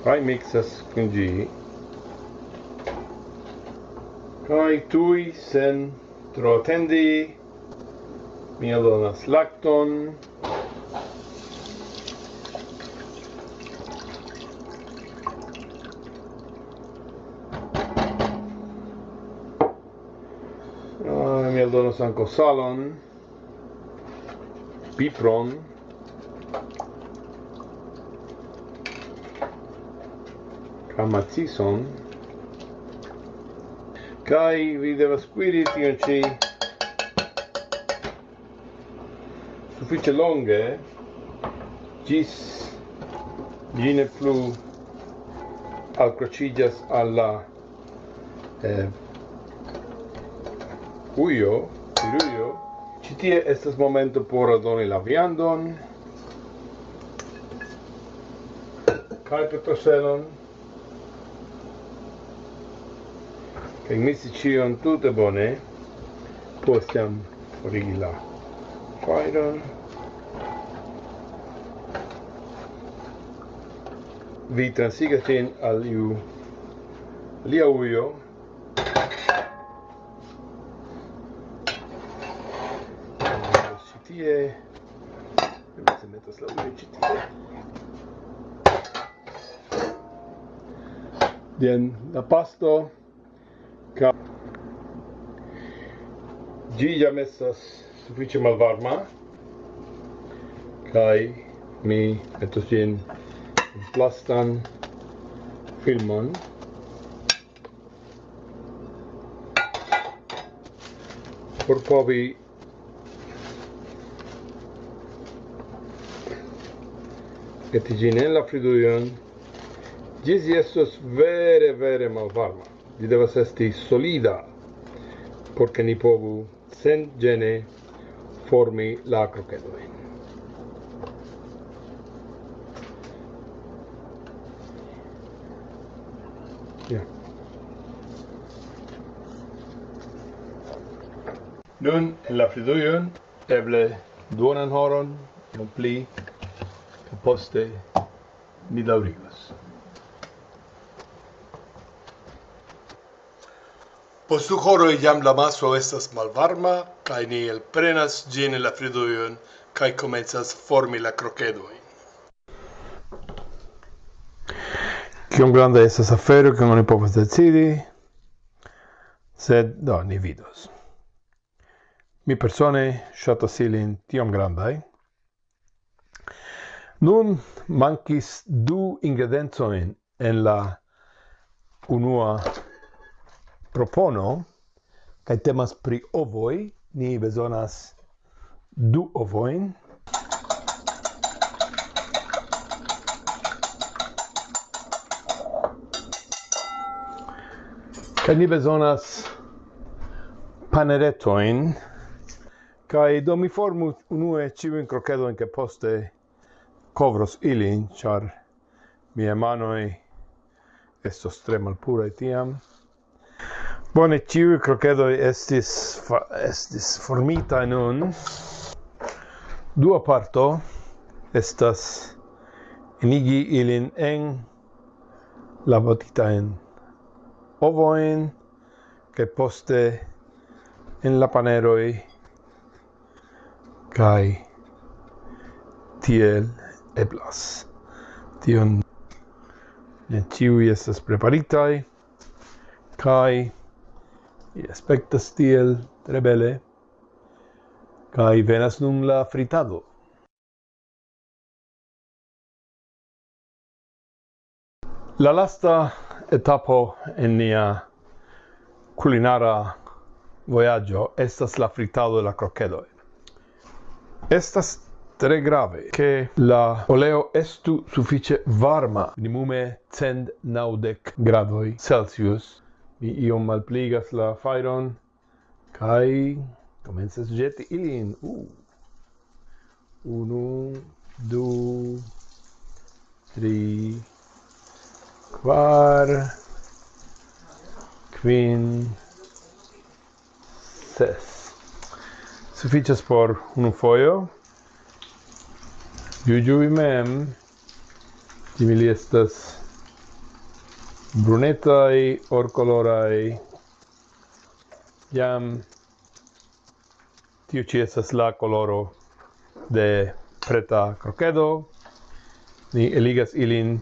Kaj miksas kun ĝi. Kaj tuj sen tro atendi, mi aldonas lakton. Ah, mi aldonas ankaŭ salon, pipron, kaj macison. Kaj vi devas kuiri tion ĉi sufiĉe longe, ĝis ĝi ne plu alkroĉiĝas al la, eh, ujo, kuirujo. Ĉi tie estas momento por aldoni la viandon kaj petroselon. Kaj misi ĉion tute bone. Poste jam forigi la fajron. Vi transigas ĝin al iu alia ujo. Ĉi tie. Mi metas la ujo ĉi tie. Jen la pasto. Ka-, ĝi jam estas sufiĉe malvarma. Kaj mi metos ĝin en plastan filmon. Por povi meti ĝin en la fridujon, ĝis ĝi estos vere, vere malvarma. Ĝi devas esti solida, por ke ni povu senĝene formi la krokedojn. Ja. Nun en la fridujon, eble duonan horon, iom pli, kaj poste ni daŭrigos. Post du horoj jam la maso estas malvarma, kaj ni elprenas ĝin el la fridujon, kaj komencas formi la krokedojn. Kiom granda estas afero, kion oni povas decidi, sed do, ni vidos. Mi persone ŝatas ilin tiom grandaj. Nun mankis du ingrediencojn en la unua propono, kaj temas pri ovoj. Ni bezonas du ovojn. Kaj ni bezonas paneretojn. Kaj do mi formu unue ĉiujn krokedojn, ke poste kovros ilin, ĉar miaj manoj estos tre malpuraj tiam. Bone, ĉiuj krokedoj estis fa-, estis formitaj nun. Dua parto estas enigi ilin en la batitajn ovojn, kaj poste en la paneroj, kaj tiel eblas. Tion ne ĉiuj estas preparitaj, kaj aspektas tiel tre bele, kaj venas nun la fritado. La lasta etapo en nia kulinara vojaĝo estas la fritado de la krokedoj. Estas tre grave, ke la oleo estu sufiĉe varma, minimume cent naŭdek gradoj Celsius. Mi iom malpligas la fajron, kaj komencas ĵeti ilin. Uh. Unu, du, tri, kvar, kvin, ses. Sufiĉas por unu fojo. Juĝu vi mem. Tiuj estas brunetaj, orkoloraj. Jam tiu ĉi estas la koloro de preta krokedo. Ni eligas ilin.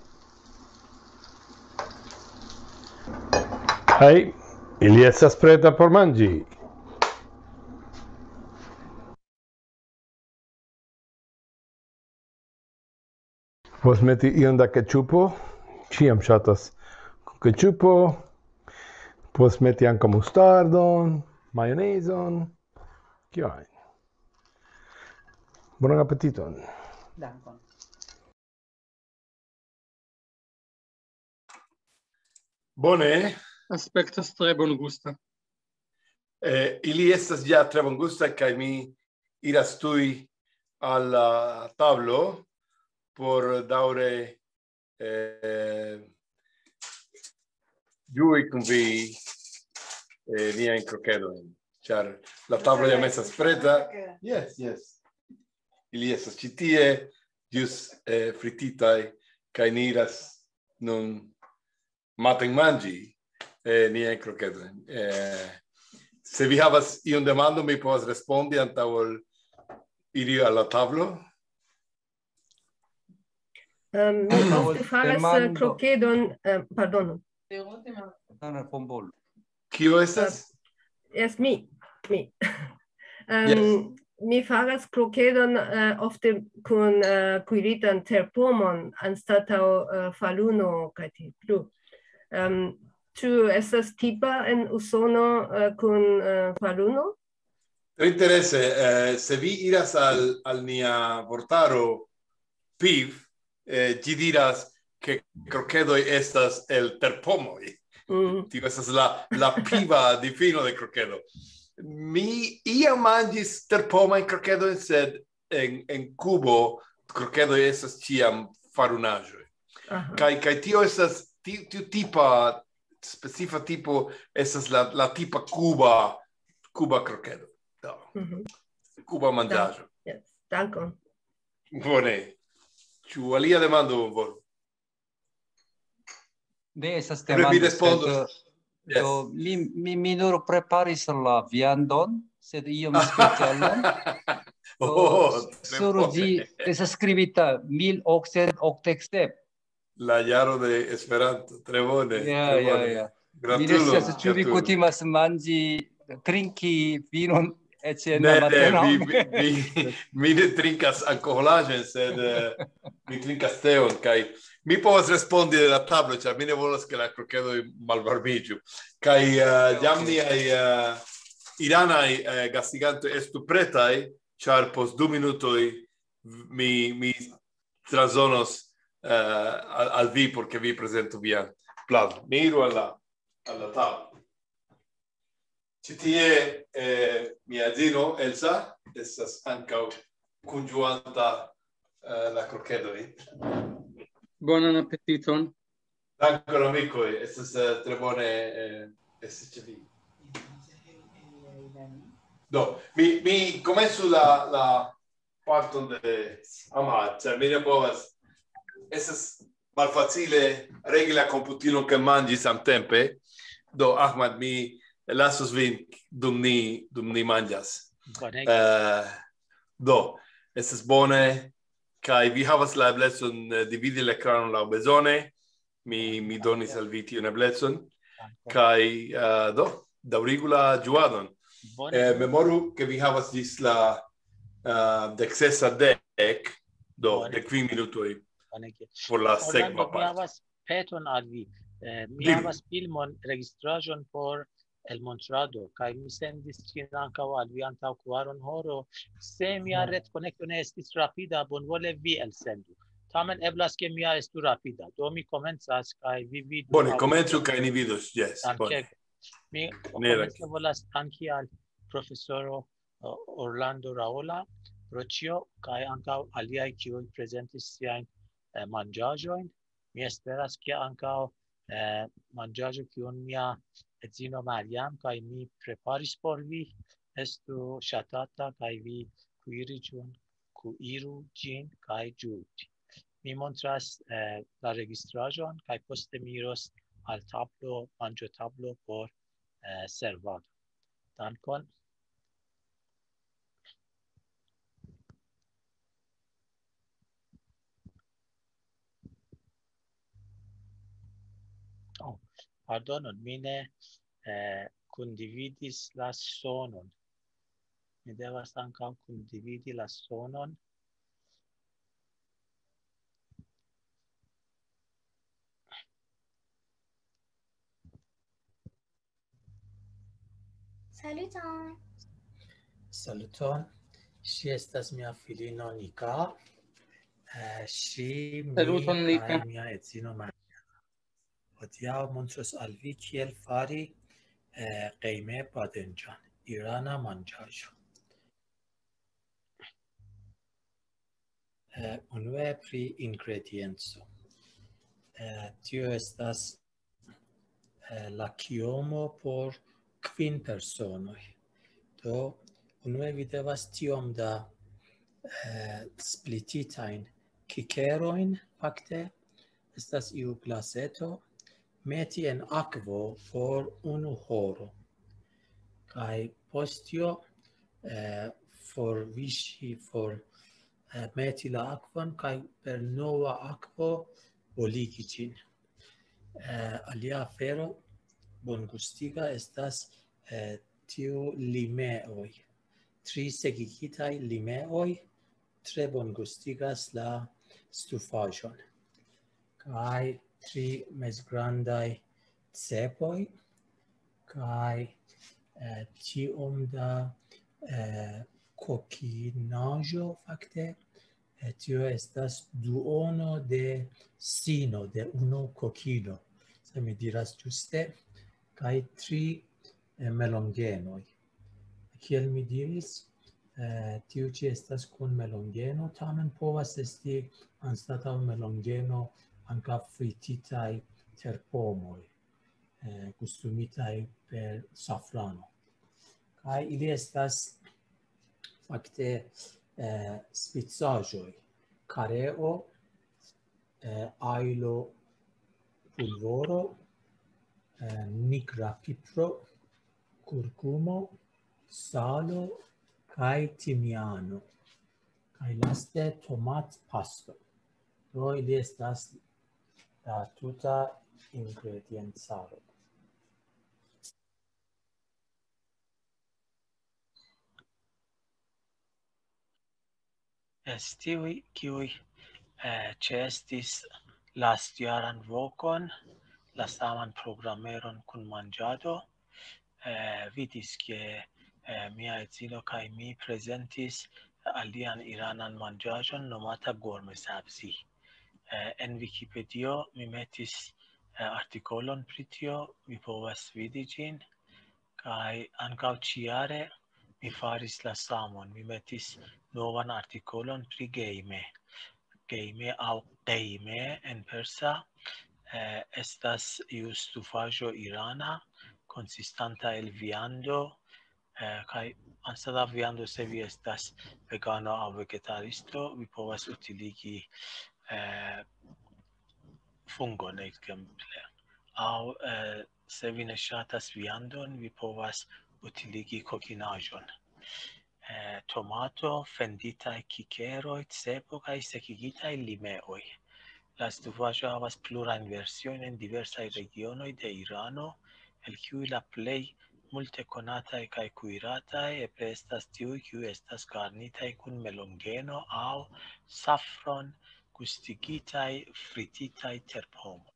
Kaj ili estas preta por manĝi. Povas meti iom da ketĉupo. Ĉiam ŝatas kun ketĉupo. Povas meti ankaŭ mustardon, majonezon. Kio ajn. Bonan apetiton. Dankon. Bone. Aspektas tre bongusta. Eh, ili estas ja tre bongusta, kaj mi iras tuj al la tablo por daŭre, eh, ĝui kun vi, eh, niajn krokedojn, ĉar la tablo jam estas preta. Yes, yes. Ili estas ĉi tie, ĵus, eh, frititaj, kaj ni iras nun matenmanĝi, eh, niajn krokedojn. Eh, se vi havas iun demandon, mi povas respondi antaŭ ol iri al la tablo. Ehm, mi ofte faras, eh, krokedon, eh, pardonu. Kio estas? Yes, mi, mi. Ehm, mi faras krokedon, eh, ofte kun, eh, kuiritan terpomon anstataŭ, eh, faluno kaj tiel plu. Ehm, ĉu estas tipa en Usono, eh, kun, eh, faluno? Tre interese, eh, se vi iras al, al nia vortaro piv, eh, ĝi diras, ke krokedoj estas el terpomoj. Mm. Tio estas la, la piva difino de krokedo. Mi iam manĝis terpomajn krokedojn, sed en, en Kubo krokedoj estas ĉiam farunaĵoj. Aha. Kaj, kaj tio estas ti-, tiu tipa, specifa tipo, estas la, la tipa kuba, kuba krokedo. Do. Mhm. Kuba manĝaĵo. Yes. Dankon. Bone. Ĉu alia demando, Bonvolu? Ne estas... Eble mi demando, respondos. Sed, eh, Yes. Do, mi, mi, mi nur preparis la viandon, sed iom specialan. Oh, Do, tre sur bone. Ĝi estas skribita mil okcent okdek sep. La jaro de Esperanto, tre bone, Ja, tre ja, bone. Ja. Mi ne Gratulon, scias, ĉu vi gratulon. Kutimas manĝi, trinki vinon eĉ en Ne, la ne, mateno? Mi, mi, mi, mi ne trinkas alkoholaĵojn, sed, eh, mi trinkas teon, kaj mi povas respondi de la tablo, ĉar mi ne volas, ke la krokedoj malvarmiĝu. Kaj, eh, Ok. jam niaj, eh, iranaj, eh, gastigantoj estu pretaj, ĉar post du minutoj mi, mi transdonos, eh, al, al vi, por ke vi prezentu vian platon. Ni iru al la, al la tablo. Ĉi tie, eh, mia edzino Elsa estas ankaŭ kunĝuanta, eh, la krokedojn. Bonan apetiton. Dankon, amikoj, estas, eh, tre bone, eh, esti ĉe vi. Do, mi, mi komencu la, la parton de Ahmad, ĉar mi ne povas, estas malfacile regi la komputilon kaj manĝi samtempe. Do, Ahmad, mi lasos vin dum ni, dum ni manĝas. Bonege. Eh, do, estas bone, kaj vi havas la eblecon, eh, dividi la ekranon laŭbezone. Mi, mi donis al vi tiun eblecon. Kaj, eh, do, daŭrigu la ĝuadon. Bone. Eh, memoru, ke vi havas ĝis la, eh, dek sesa dek, do, Bone. Dek kvin minutoj Bonege. por la Orlando, sekva mi parto. Havas peton al vi. Eh, mi Diru. Havas filmon, registraĵon por elmontrado, kaj mi sendis ĝin ankaŭ al vi antaŭ kvaron horo. Se mia Mhm. retkonekto ne estis rapida, bonvole vi elsendu. Tamen eblas, ke mia estu rapida. Do mi komencas, kaj vi vidu. Bone, aŭ- komencu kaj ni vidos. Yes, bone. Dankego. Mi Ne, komence volas danki al profesoro, eh, Orlando Raola pro ĉio, kaj ankaŭ aliaj, kiuj prezentis siajn, eh, manĝaĵojn. Mi esperas, ke ankaŭ, eh, manĝaĵo, kiun mia edzino Mariam kaj mi preparis por vi, estu ŝatata, kaj vi kuiri ĝin, kuiru ĝin kaj ĝuu ĝin. Mi montras, eh, la registraĵon, kaj poste mi iros al tablo, manĝotablo por, eh, servado. Dankon. Oh, pardonon, mi ne, eh, kundividis la sonon. Mi devas ankaŭ kundividi la sonon. Saluton. Saluton. Ŝi estas mia filino Nika. Eh, ŝi, mi Saluton, Nika. Kaj mia edzino Maria. Hodiaŭ montros al vi kiel fari, eh, qeyme bademcan, irana manĝaĵo. Eh, unue pri ingredienco. Eh, tio estas, eh, la kiomo por kvin personoj. Do, unue vi devas tiom da, eh, splititajn kikerojn, fakte, estas iu glaseto, meti en akvo por unu horo. Kaj post tio, eh, forviŝi, for, eh, meti la akvon, kaj per nova akvo boligi ĝin. Eh, alia afero bongustiga estas, eh, tiu limeoj. Tri sekigitaj limeoj tre bongustigas la stufaĵon. Kaj tri mezgrandaj cepoj, kaj, eh, tiom da, eh, kokinaĵo, fakte. Eh, tio estas duono de sino de unu kokino, se mi diras ĝuste, kaj tri, eh, melongenoj. Kiel mi diris, eh, tiu ĉi estas kun melongeno, tamen povas esti anstataŭ melongeno ankaŭ frititaj terpomoj, eh, gustumitaj per safrano. Kaj ili estas fakte, eh, spicaĵoj, kareo, eh, ajlo pulvoro, eh, nigra pipro, kurkumo, salo kaj timiano. Kaj laste tomatpasto. Do ili estas la tuta ingrediencaro. Jes, tiuj, kiuj, eh, ĉeestis lastjaran vokon, la saman programeron kun manĝado, eh, vidis, ke, eh, mia edzino kaj mi prezentis alian iranan manĝaĵon nomata gorme sabzi. Eh, en Wikipedio mi metis, eh, artikolon pri tio, vi povas vidi ĝin. Kaj ankaŭ ĉiare mi faris la samon. Mi metis novan artikolon pri Geime. Geime aŭ Geime en persa, eh, estas iu stufaĵo irana, konsistanta el viando, eh, kaj anstataŭ viando, se vi estas vegano aŭ vegetaristo, vi povas utiligi, eh, fungon, ekzemple. Aŭ, eh, se vi ne ŝatas viandon, vi povas utiligi kokinaĵon. Eh, tomato, fenditaj kikeroj, cepo kaj sekigitaj limeoj. La stufaĵo havas plurajn versiojn en diversaj regionoj de Irano, el kiuj la plej multe konataj kaj kuirataj eble estas tiuj, kiuj estas garnitaj kun melongeno aŭ safron, gustigitaj, frititaj terpomo.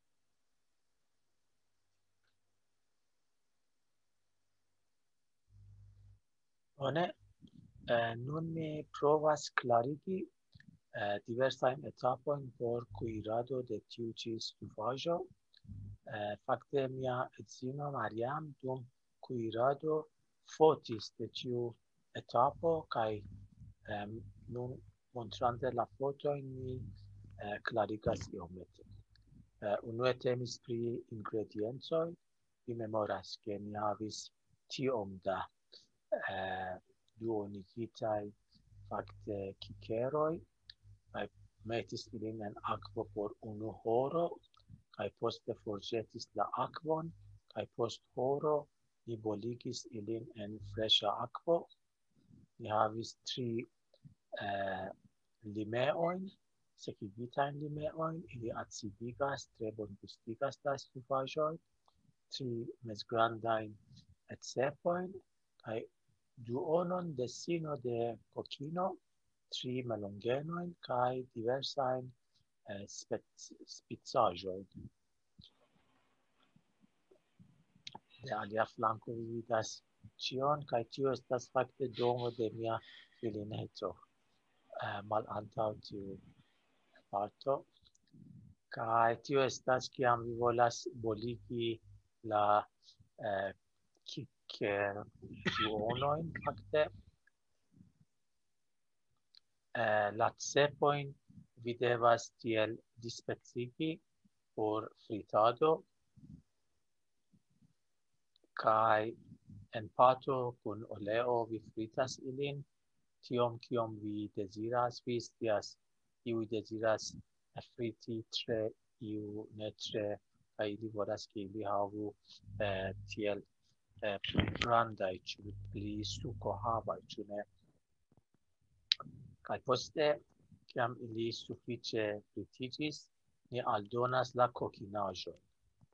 Bone, eh, nun mi provas klarigi, eh, diversajn etapojn por kuirado de tiu ĉi stufaĵo. Eh, fakte mia edzino Mariam dum kuirado fotis de tiu etapo kaj, em, nun montrante la fotojn mi, eh, klarigas iomete. Eh, unue temis pri ingrediencoj. Vi memoras, ke ni havis tiom da, eh, duonigitaj fakte kikeroj, kaj metis ilin en akvo por unu horo, kaj poste forĵetis la akvon, kaj post horo ni boligis ilin en freŝa akvo. Ni havis tri, eh, limeojn, sekigitajn limeojn, ili acidigas, tre bongustigas la stufaĵoj, tri mezgrandajn cepojn, kaj duonon de sino de kokino, tri melongenojn kaj diversajn, eh, spec-, spicaĵojn. De alia flanko vi vidas ĉion, kaj tio estas fakte domo de mia filineto. Eh, malantaŭ tiu parto. Kaj tio estas, kiam vi volas boligi la, eh, kikerduonojn, fakte. Eh, la cepojn vi devas tiel dispecigi por fritado, kaj en pato kun oleo vi fritas ilin, tiom kiom vi deziras, vi scias, iuj deziras friti tre, iu ne tre, kaj ili volas, ke ili havu, eh, tiel, eh, pli grandaj, ĉu pli sukohavaj, ĉu ne? Kaj poste, kiam ili sufiĉe fritiĝis, ni aldonas la kokinaĵon.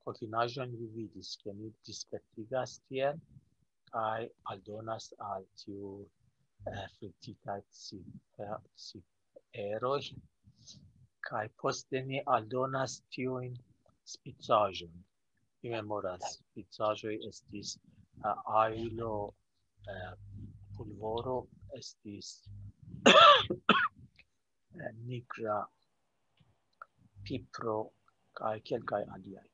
Kokinaĵon vi vidis, ke ni dispectigas tiel, kaj aldonas al tiu, eh, frititaj ci-, eh, ciferoj. Kaj poste ni aldonas tiujn spicaĵojn. Mi memoras, spicaĵoj estis, eh, ajlo, eh, pulvoro, estis, eh, nigra pipro kaj kelkaj aliaj.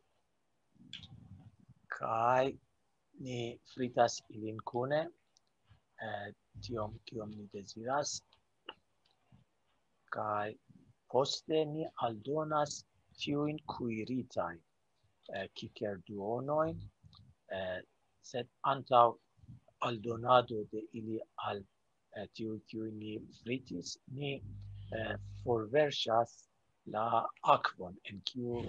Kaj ni fritas ilin kune, eh, tiom kiom ni deziras. Kaj poste ni aldonas tiujn kuiritajn, eh, kikerduonojn, eh, sed antaŭ aldonado de ili al, eh, tiuj, kiuj ni fritis, ni, eh, forverŝas la akvon, en kiu,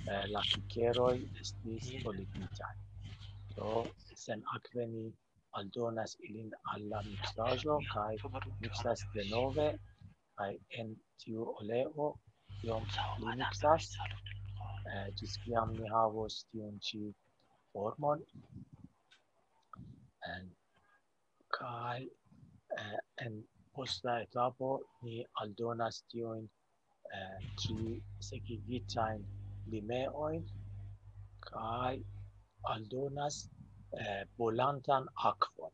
eh, la kikeroj estis boligitaj. Do, senakve ni aldonas ilin al la miksaĵo kaj miksas denove, kaj en tiu oleo iom pli miksas, eh, ĝis kiam ni havos tiun ĉi formon. En, kaj, eh, en posta etapo ni aldonas tiujn, eh, tri sekigitajn limeojn, kaj aldonas, eh, bolantan akvon.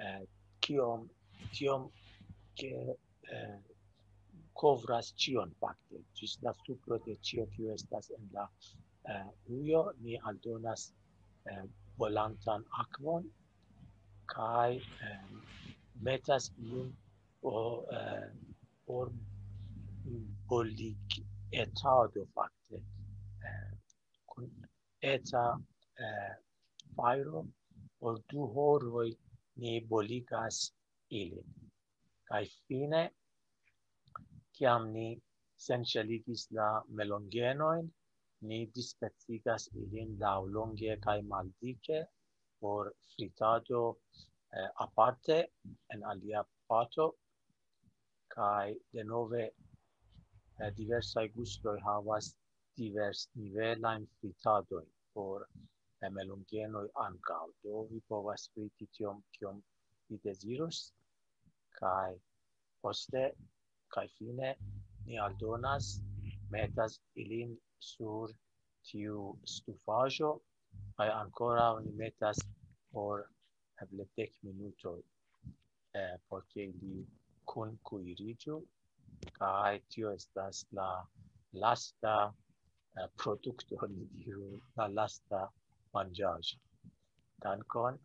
Eh, kiom, tiom, ke, eh, kovras ĉion fakte. Ĝis la supro de ĉio, kiu estas en la, eh, ujo, ni aldonas, eh, bolantan akvon, kaj eh, metas ilin por, eh, por bolig etado fakte. Eh, kun eta eh, fajro por du horoj ni boligas ilin. Kaj fine, kiam ni senŝeligis la melongenojn, ni dispecigas ilin laŭlonge kaj maldike por fritado eh, aparte en alia pato. Kaj denove eh, diversaj gustoj havas divers nivelajn fritadojn por eh, melongenoj ankaŭ. Do vi povas friti tiom, kiom vi dezirus. Kaj poste, kaj fine, ni aldonas, metas ilin sur tiu stufaĵo, kaj ankoraŭ ni metas por eble dek minutoj, eh, por ke ili kunkuiriĝu, kaj tio estas la lasta eh, produkto, ni diru, la lasta manĝaĵo. Dankon.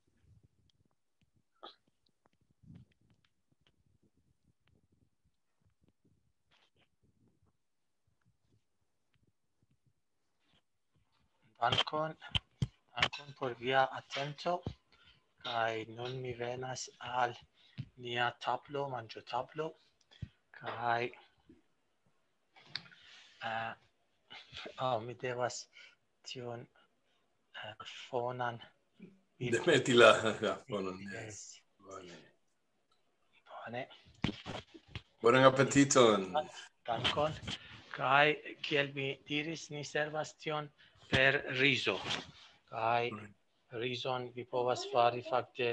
Dankon, dankon por via atento. Kaj nun mi venas al nia tablo, manĝotablo. Kaj uh, oh, mi devas tion uh, fonan. Demeti la, la fonon, yes. Bone. Bonan apetiton. Dankon. Kaj kiel mi diris, ni servas tion per rizo. Kaj rizon vi povas fari fakte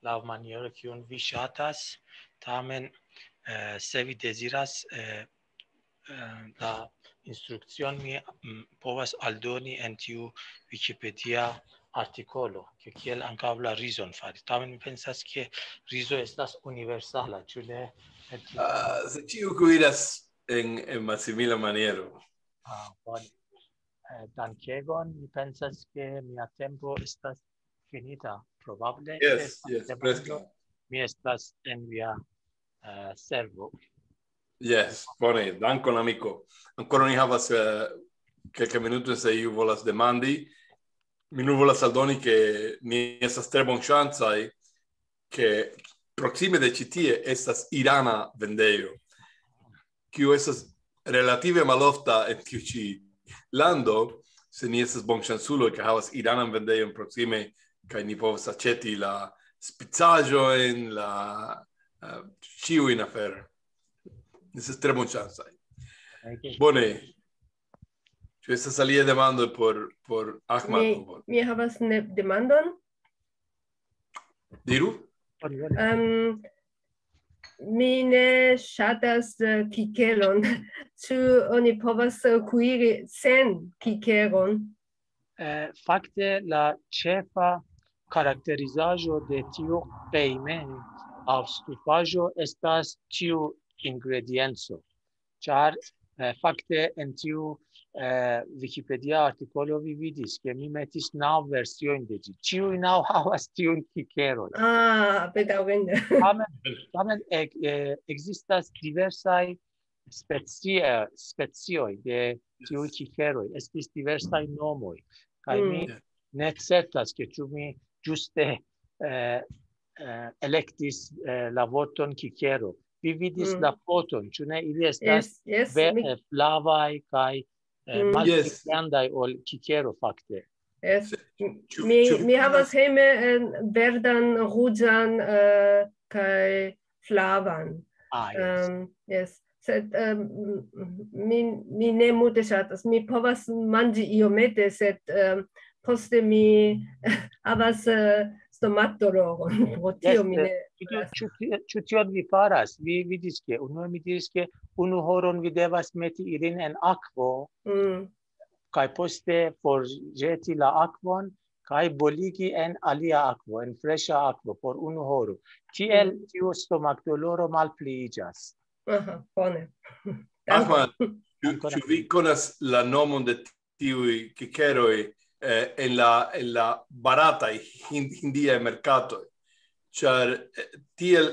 laŭ maniero kiun vi ŝatas. Tamen, eh, se vi deziras, eh, eh, la instrukcion mi mm, povas aldoni en tiu Wikipedia artikolo, ke kiel ankaŭ la rizon fari. Tamen mi pensas, ke rizo estas universala, ĉu ne? Uh, se ĉiu kuiras en, en malsimila maniero. Ah, bone. Eh, dankegon, mi pensas, ke mia tempo estas finita. Probable. Yes, yes, preskaŭ. Mi estas en via uh, servo. Yes, bone, dankon amiko. Ancora ni havas uh, kelke minuto se iu volas demandi. Mi nur volas aldoni ke ni estas tre bonŝancaj ke proksime de ĉi tie estas irana vendejo, kiu estas relative malofta en tiu ĉi lando, se ni estas bonŝanculo ke havas iranan vendejon proksime kaj ni povas aĉeti la spicaĵojn, la uh, ĉiujn aferojn. Estas tre bonŝancaj. Bone. Ĉu estas alia demando por, por Ahmad? Mi, mi havas ne demandon. Diru. Um, mi ne ŝatas uh, kikelon. Ĉu oni povas uh, kuiri sen kikelon? Eh, fakte la ĉefa karakterizaĵo de tiu pejme aŭ stufaĵo estas tiu ingredienco. Ĉar eh, fakte en tiu eh, Wikipedia artikolo vi vidis, ke mi metis naŭ versiojn de ĝi. Ĉiuj naŭ havas tiun kikeroj. Ah, bedaŭrinde. Tamen, tamen eh, existas diversaj specie, specioj de tiuj kikeroj. Estis diversaj nomoj. Kaj mi ne certas, ke ĉu mi ĝuste eh, eh, elektis eh, la vorton kikero. Vi vidis la foton, ĉu ne? Ili estas Yes, yes. ve- Mi, eh, flavaj kaj eh, Mm. malpli Yes. grandaj ol kikero fakte. yes. Ĉu- Mi, ĉu vi mi konas- havas hejme en verdan, ruĝan eh, kaj flavan. Ah, yes. Um, yes. Sed um, mi, mi ne multe ŝatas. Mi povas manĝi iomete, sed um, poste mi havas uh, stomatdoloron. Pro tio Yes, mi eh, ne. Ĉu tio- ĉu tio- ĉu tion vi faras? Vi vidis, ke unue mi diris, ke unu horon vi devas meti ilin en akvo Mm. kaj poste forĵeti la akvon kaj boligi en alia akvo, en freŝa akvo por unu horo. Tiel Mhm. tiu stomakdoloro malpliiĝas. Aha, bone. Ahmad, ĉu, Ancora ĉu vi konas la nomon de tiuj kikeroj eh, en la, en la barataj hin- hindiaj merkatoj? ĉar, eh, tiel,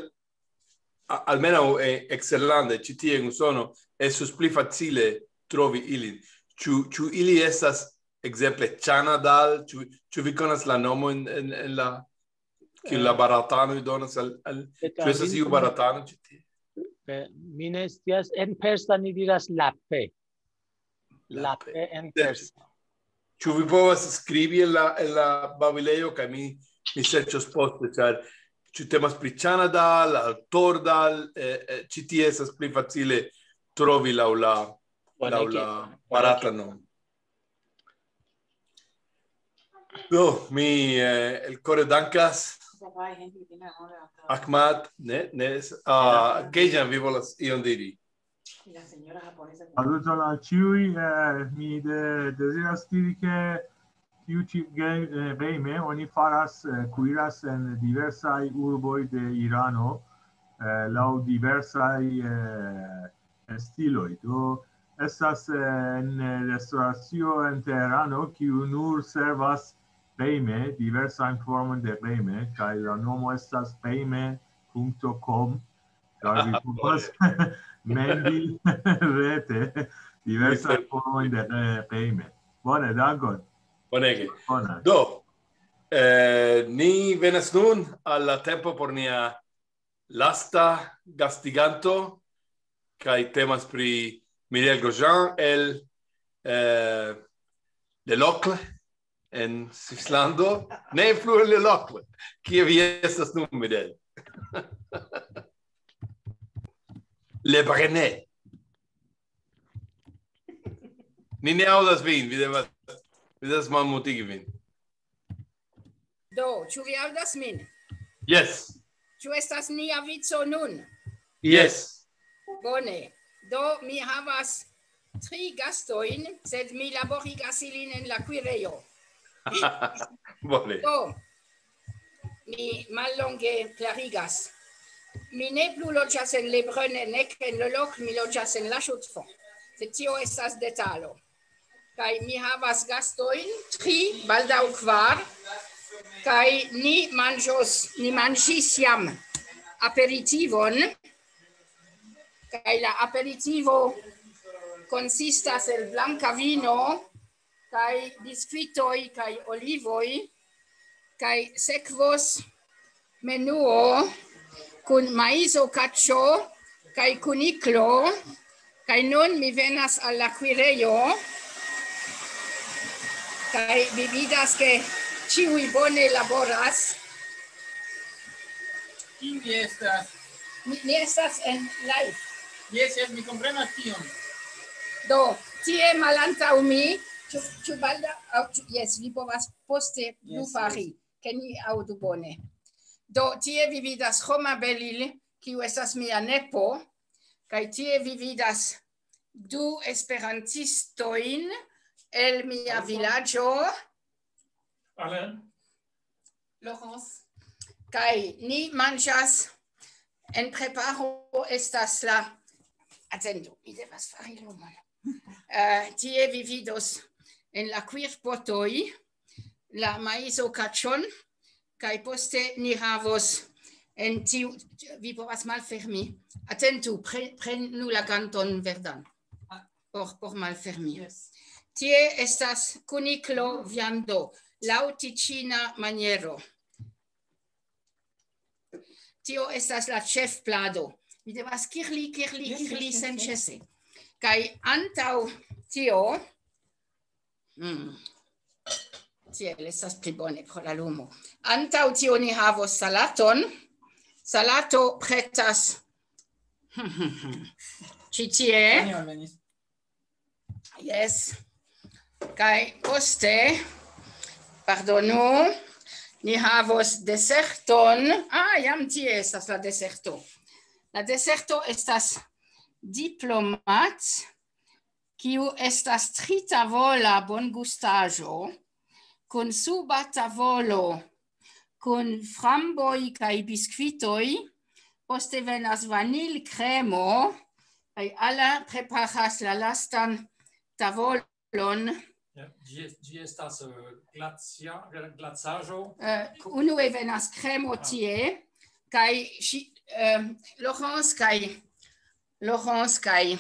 a-, almenaŭ, eh, eksterlande, ĉi tie en Usono, estus pli facile trovi ilin. Ĉu, ĉu ili estas ekzemple Chanadal? Ĉu, ĉu vi konas la nomon en, en la, kiun la, eh, baratanoj donas al, al, ĉu estas iu baratano ĉi tie? Eh, mi ne scias, en persa ni diras lape. Lape. Lape en persa. Ĉu vi povas skribi en la, en la babilejo, kaj mi, mi serĉos poste, ĉar ĉu temas pri Chanadal, al Tordal, eh, eh, ĉi tie estas pli facile trovi laŭ la, bonege, laŭ la, bonege, barata nomo. Do, mi, eh, el kore dankas. Ahmad, ne, ne, es-, ah, Kejan, vi volas ion diri? Saluton al ĉiuj, eh, mi de-, deziras diri, ke tiu ĉi ge-, eh, game oni faras, eh, kuiras en diversaj urboj de Irano, eh, laŭ diversaj, eh, stiloj. Do, estas, eh, en restoracio en Teherano, kiu nur servas game, diversajn formojn de game, kaj la nomo estas game punto com, ĉar vi povas mendi rete diversajn formojn de, eh, game. Bone, dankon. Bonege. Bone. Do, eh, ni venas nun al la tempo por nia lasta gastiganto, kaj temas pri Miriel Grosjean el, eh, Le Locle en Svislando. Ne plu en Le Locle. Kie vi estas nun, Miriel? Le Brenet. Ni ne aŭdas vin, vi devas, vi devas malmutigi vin. Do, ĉu vi aŭdas min? Yes. Ĉu estas nia vico nun? Yes. Bone. Do, mi havas tri gastojn, sed mi laborigas ilin en la kuirejo. Bone. Do, mi mallonge klarigas. Mi ne plu loĝas en Le Brenet, nek en Le Locle, mi loĝas en La Chaux-de-Fonds. Sed tio estas detalo. Kaj mi havas gastojn, tri, baldaŭ kvar, kaj ni manĝos, ni manĝis jam aperitivon, kaj la aperitivo konsistas el blanka vino, kaj biskvitoj, kaj olivoj, kaj sekvos menuo kun maizo, kaĉo, kaj kuniklo, kaj nun mi venas al la kuirejo, kaj vi vidas, ke ĉiuj bone laboras. Kiu vi estas? Mi, mi estas en live. Jes, jes, mi komprenas tion. Do, tie malantaŭ mi, ĉu, ĉu baldaŭ, aŭ ĉu, jes, vi povas poste plu, jes, fari, jes, ke ni aŭdu bone. Do, tie vi vidas Roma Belil, kiu estas mia nepo, kaj tie vi vidas du esperantistojn el mia vilaĝo. Alain. Laurence. Kaj ni manĝas, en preparo estas la, atendu, mi devas fari lumon. Eh, tie vi vidos en la kuirpotoj la maizo kaĉon, kaj poste ni havos en tiu, vi povas malfermi. Atentu, pre-, prenu la ganton verdan. Por, por malfermi. Yes. Tie estas kuniklo viando, laŭ ticina maniero. Tio estas la ĉefplado. Mi devas kirli, kirli, yes, kirli, yes, yes, senĉese. Kaj antaŭ tio, mm, tiel estas pli bone pro la lumo. Antaŭ tio ni havos salaton. Salato pretas ĉi tie. Anjo alvenis. Yes. Kaj poste, pardonu, ni havos deserton. Ah, jam tie estas la deserto. La deserto estas diplomat, kiu estas tritavola bongustaĵo, kun suba tavolo, kun framboj kaj biskvitoj. Poste venas vanilkremo, kaj Alain preparas la lastan tavolon. Ja, ĝi est-, ĝi estas, eh, glacia-, glacaĵo. Eh, unue venas kremo tie, Kaj ŝi, eh, Laurence kaj, Laurence kaj,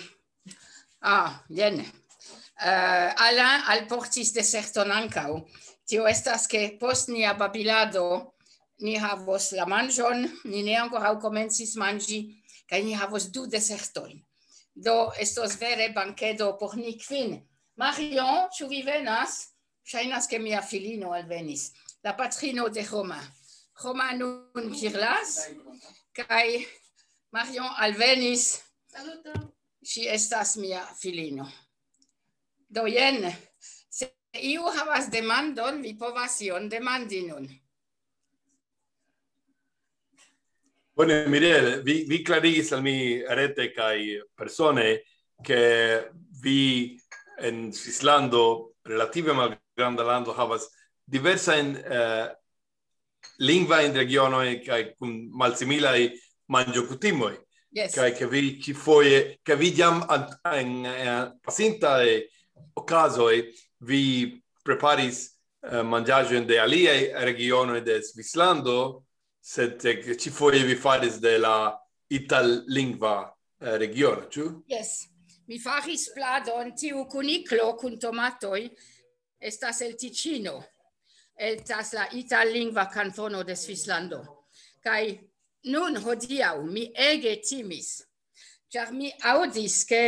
ah, jen. Eh, Alain alportis deserton ankaŭ. Tio estas, ke post nia babilado ni havos la manĝon, ni ne ankoraŭ komencis manĝi, kaj ni havos du desertojn. Do estos vere bankedo por ni kvin. Marion, ĉu vi venas? Ŝajnas, ke mia filino alvenis. La patrino de Romain. Romain nun kirlas, kaj Marion alvenis. Saluton. Ŝi estas mia filino. Do jen, se iu havas demandon, vi povas ion demandi nun. Bone, Mirel, vi, vi klarigis al mi rete kaj persone, ke vi en Svislando, relative malgranda lando, havas diversajn, eh, lingvajn regionojn kaj kun malsimilaj manĝokutimoj. Yes. Kaj ke vi ĉifoje, ke vi jam an-, en, en pasintaj okazoj vi preparis, eh, manĝaĵojn de aliaj regionoj de Svislando, sed, eh, ĉifoje vi faris de la itallingva, eh, regiono, ĉu? Yes. Mi faris pladon, tiu kuniklo kun tomatoj estas el Ticino. Estas la itallingva kantono de Svislando. Kaj nun hodiaŭ mi ege timis, ĉar mi aŭdis, ke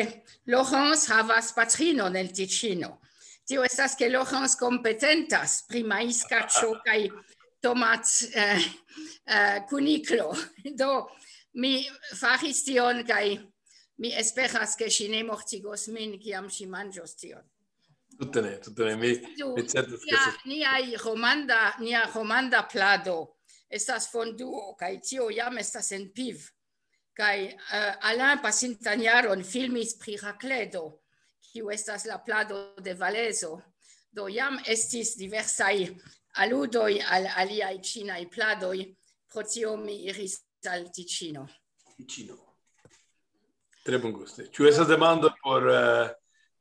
Laurence havas patrinon el Ticino. Tio estas, ke Laurence kompetentas pri maiskaĉo kaj tomat, eh, eh, kuniklo. Do mi faris tion kaj mi esperas, ke ŝi ne mortigos min, kiam ŝi manĝos tion. Tute ne, tute ne. Mi, Do, mi certas, ke nia, estas niaj romanda, nia romanda plado estas fonduo, kaj tio jam estas en piv. Kaj, eh, Alain pasintan jaron filmis pri rakledo, kiu estas la plado de Valezo. Do jam estis diversaj aludoj al aliaj ĉinaj pladoj, pro tio mi iris al Ticino. Ticino. Tre bonguste. Ĉu estas demando por, eh,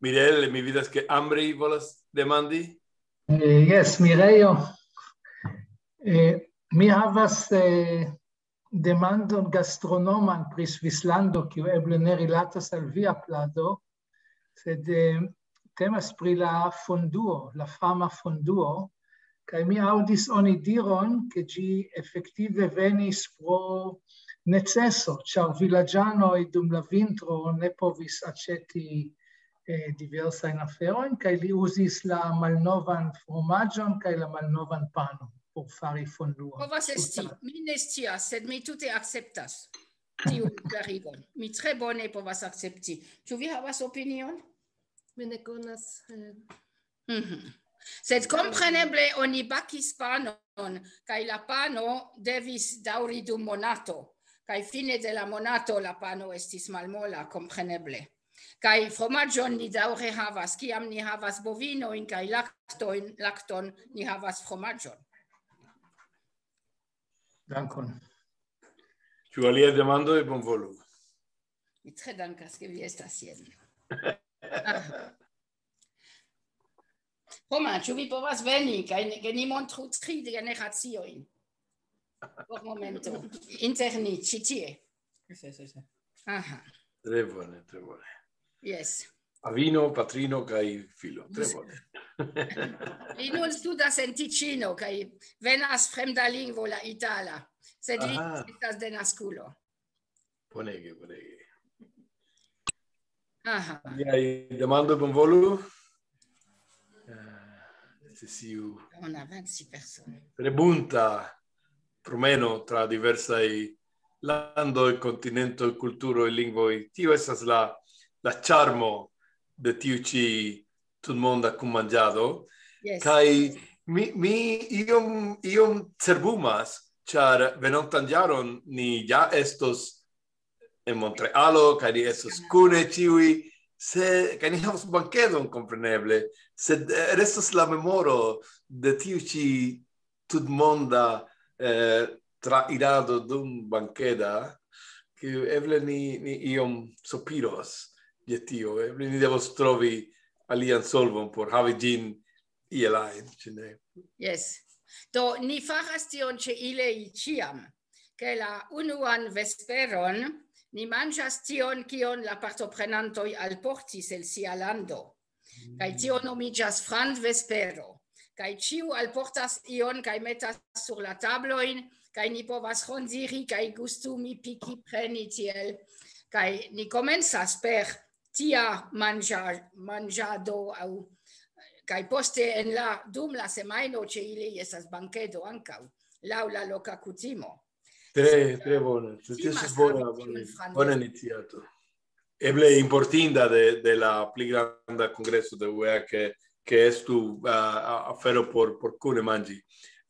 Mirel? Mi vidas, ke Amri volas demandi. Eh, yes, Mirejo. Eh, mi havas, eh, demandon gastronoman pri Svislando, kiu eble ne rilatas al via plado, sed, eh, temas pri la fonduo, la fama fonduo, kaj mi aŭdis oni diron, ke ĝi efektive venis pro neceso, ĉar vilaĝanoj dum la vintro ne povis aĉeti, eh, diversajn aferojn, kaj li uzis la malnovan fromaĝon kaj la malnovan panon por fari fonduon. Povas esti, mi ne scias, sed mi tute akceptas tiun klarigon. Mi tre bone povas akcepti. Ĉu vi havas opinion? Mi ne konas, eh, Mhm. Sed kompreneble oni bakis panon, kaj la pano devis daŭri dum monato, kaj fine de la monato la pano estis malmola, kompreneble. Kaj fromaĝon ni daŭre havas, kiam ni havas bovinojn kaj laktojn, lakton, ni havas fromaĝon. Dankon. Ĉu aliaj demandoj? Bonvolu. Mi tre dankas, ke vi estas jen. Ah. Romain, ĉu vi povas veni, kaj ni, ke ni montru tri generaciojn? Por momento. Inter ni, ĉi tie. Sì, sì, sì. Aha. Tre bone, tre bone. Yes. Avino, patrino kaj filo. Tre bone. Li nun studas en Ticino, kaj venas fremda lingvo, la itala. Sed li Aha. Estas de naskulo. Bonege, bonege. Aha. Aliaj demandoj, bonvolu. Eh, se siu Una venti personoj. Tre bunta promeno tra diversaj landoj, kontinentoj, kulturoj, lingvoj. Tio estas la, la ĉarmo de tiu ĉi tutmonda kunmanĝado. Yes. Kaj mi, mi iom, iom cerbumas, ĉar venontan jaron ni ja estos en Montrealo, kaj ni estos kune ĉiuj, se, kaj ni havos bankedon, kompreneble, sed, eh, restos la memoro de tiu ĉi tutmonda, eh, trairado dum bankeda, ke eble ni, ni iom sopiros je tio, eble ni devos trovi alian solvon por havi ĝin iel ajn, ĉu ne? Yes. Do, ni faras tion ĉe Ilei ĉiam. ke la unuan vesperon ni manĝas tion, kion la partoprenantoj alportis el sia lando. Kaj tio nomiĝas franvespero. Kaj ĉiu alportas ion kaj metas sur la tablojn, kaj ni povas rondiri kaj gustumi, piki, preni tiel. Kaj ni komencas per tia manĝa-, manĝado aŭ, kaj poste en la, dum la semajno ĉe ili estas bankedo ankaŭ, laŭ la loka kutimo. Tre, tre bone. Tio estas bona, bona, bona iniciato. Eble importanta de, de la pli granda kongreso de U E A ke, ke estu, ah, a-, afero por, por kune manĝi.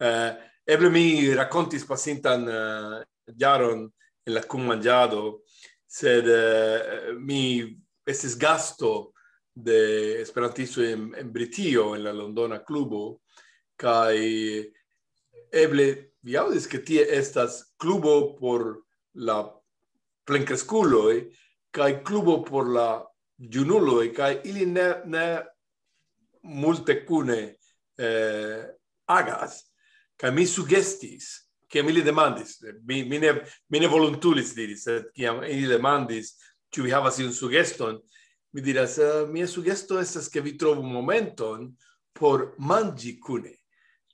Eh, eble mi rakontis pasintan, eh, jaron en la kunmanĝado, sed, eh, mi estis gasto de esperantisto en, en Britio, en la Londona klubo, kaj eble vi aŭdis, ke tie estas klubo por la plenkreskuloj kaj klubo por la junuloj, kaj ili ne, ne multe kune, eh, agas, kaj mi sugestis, kiam ili demandis, mi, mi ne, mi ne volontulis diri, sed kiam ili demandis, ĉu vi havas iun sugeston, mi diras, eh, mia sugesto estas, ke vi trovu momenton por manĝi kune,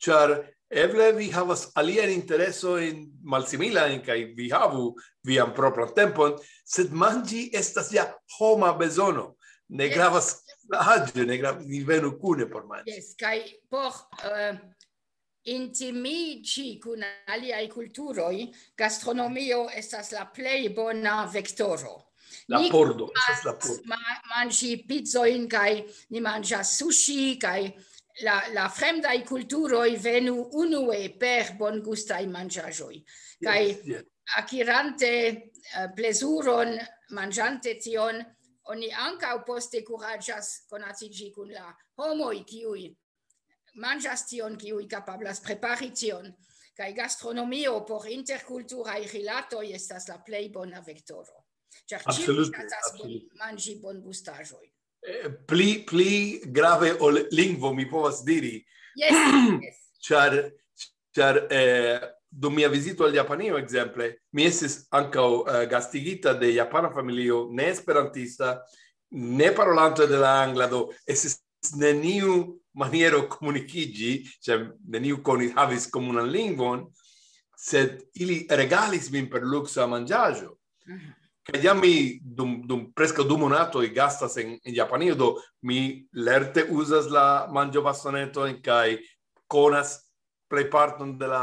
ĉar eble vi havas aliajn interesojn malsimilajn, kaj vi havu vian propran tempon, sed manĝi estas ja homa bezono. Ne gravas la aĝo, ne gravas, ni venu kune por manĝi. Jes, kaj por, eh, intimiĝi kun aliaj kulturoj, gastronomio estas la plej bona vektoro. La pordo, estas la pordo. Ma-, manĝi pizzojn kaj ni manĝas sushi, kaj la, la fremdaj kulturoj venu unue per bongustaj manĝaĵoj. Kaj, yes, yes, akirante, eh, plezuron, manĝante tion, oni ankaŭ poste kuraĝas konatiĝi kun la homoj, kiuj manĝas tion, kiuj kapablas prepari tion. Kaj gastronomio por interkulturaj rilatoj estas la plej bona vektoro. Ĉar ĉiuj ŝatas bon-, manĝi bongustaĵojn. Eh, pli, pli grave ol lingvo, mi povas diri. Jes, jes. Ĉar, ĉar, eh, dum mia vizito al Japanio, ekzemple, mi estis ankaŭ, eh, gastigita de japana familio, ne esperantista, ne parolante de la angla, do estis neniu maniero komunikiĝi, ĉar neniu koni-, havis komunan lingvon, sed ili regalis min per luksa manĝaĵo. Mhm. Kaj jam mi dum, dum preskaŭ du monatoj gastas en, en Japanio, do mi lerte uzas la manĝobastonetojn kaj konas plejparton de la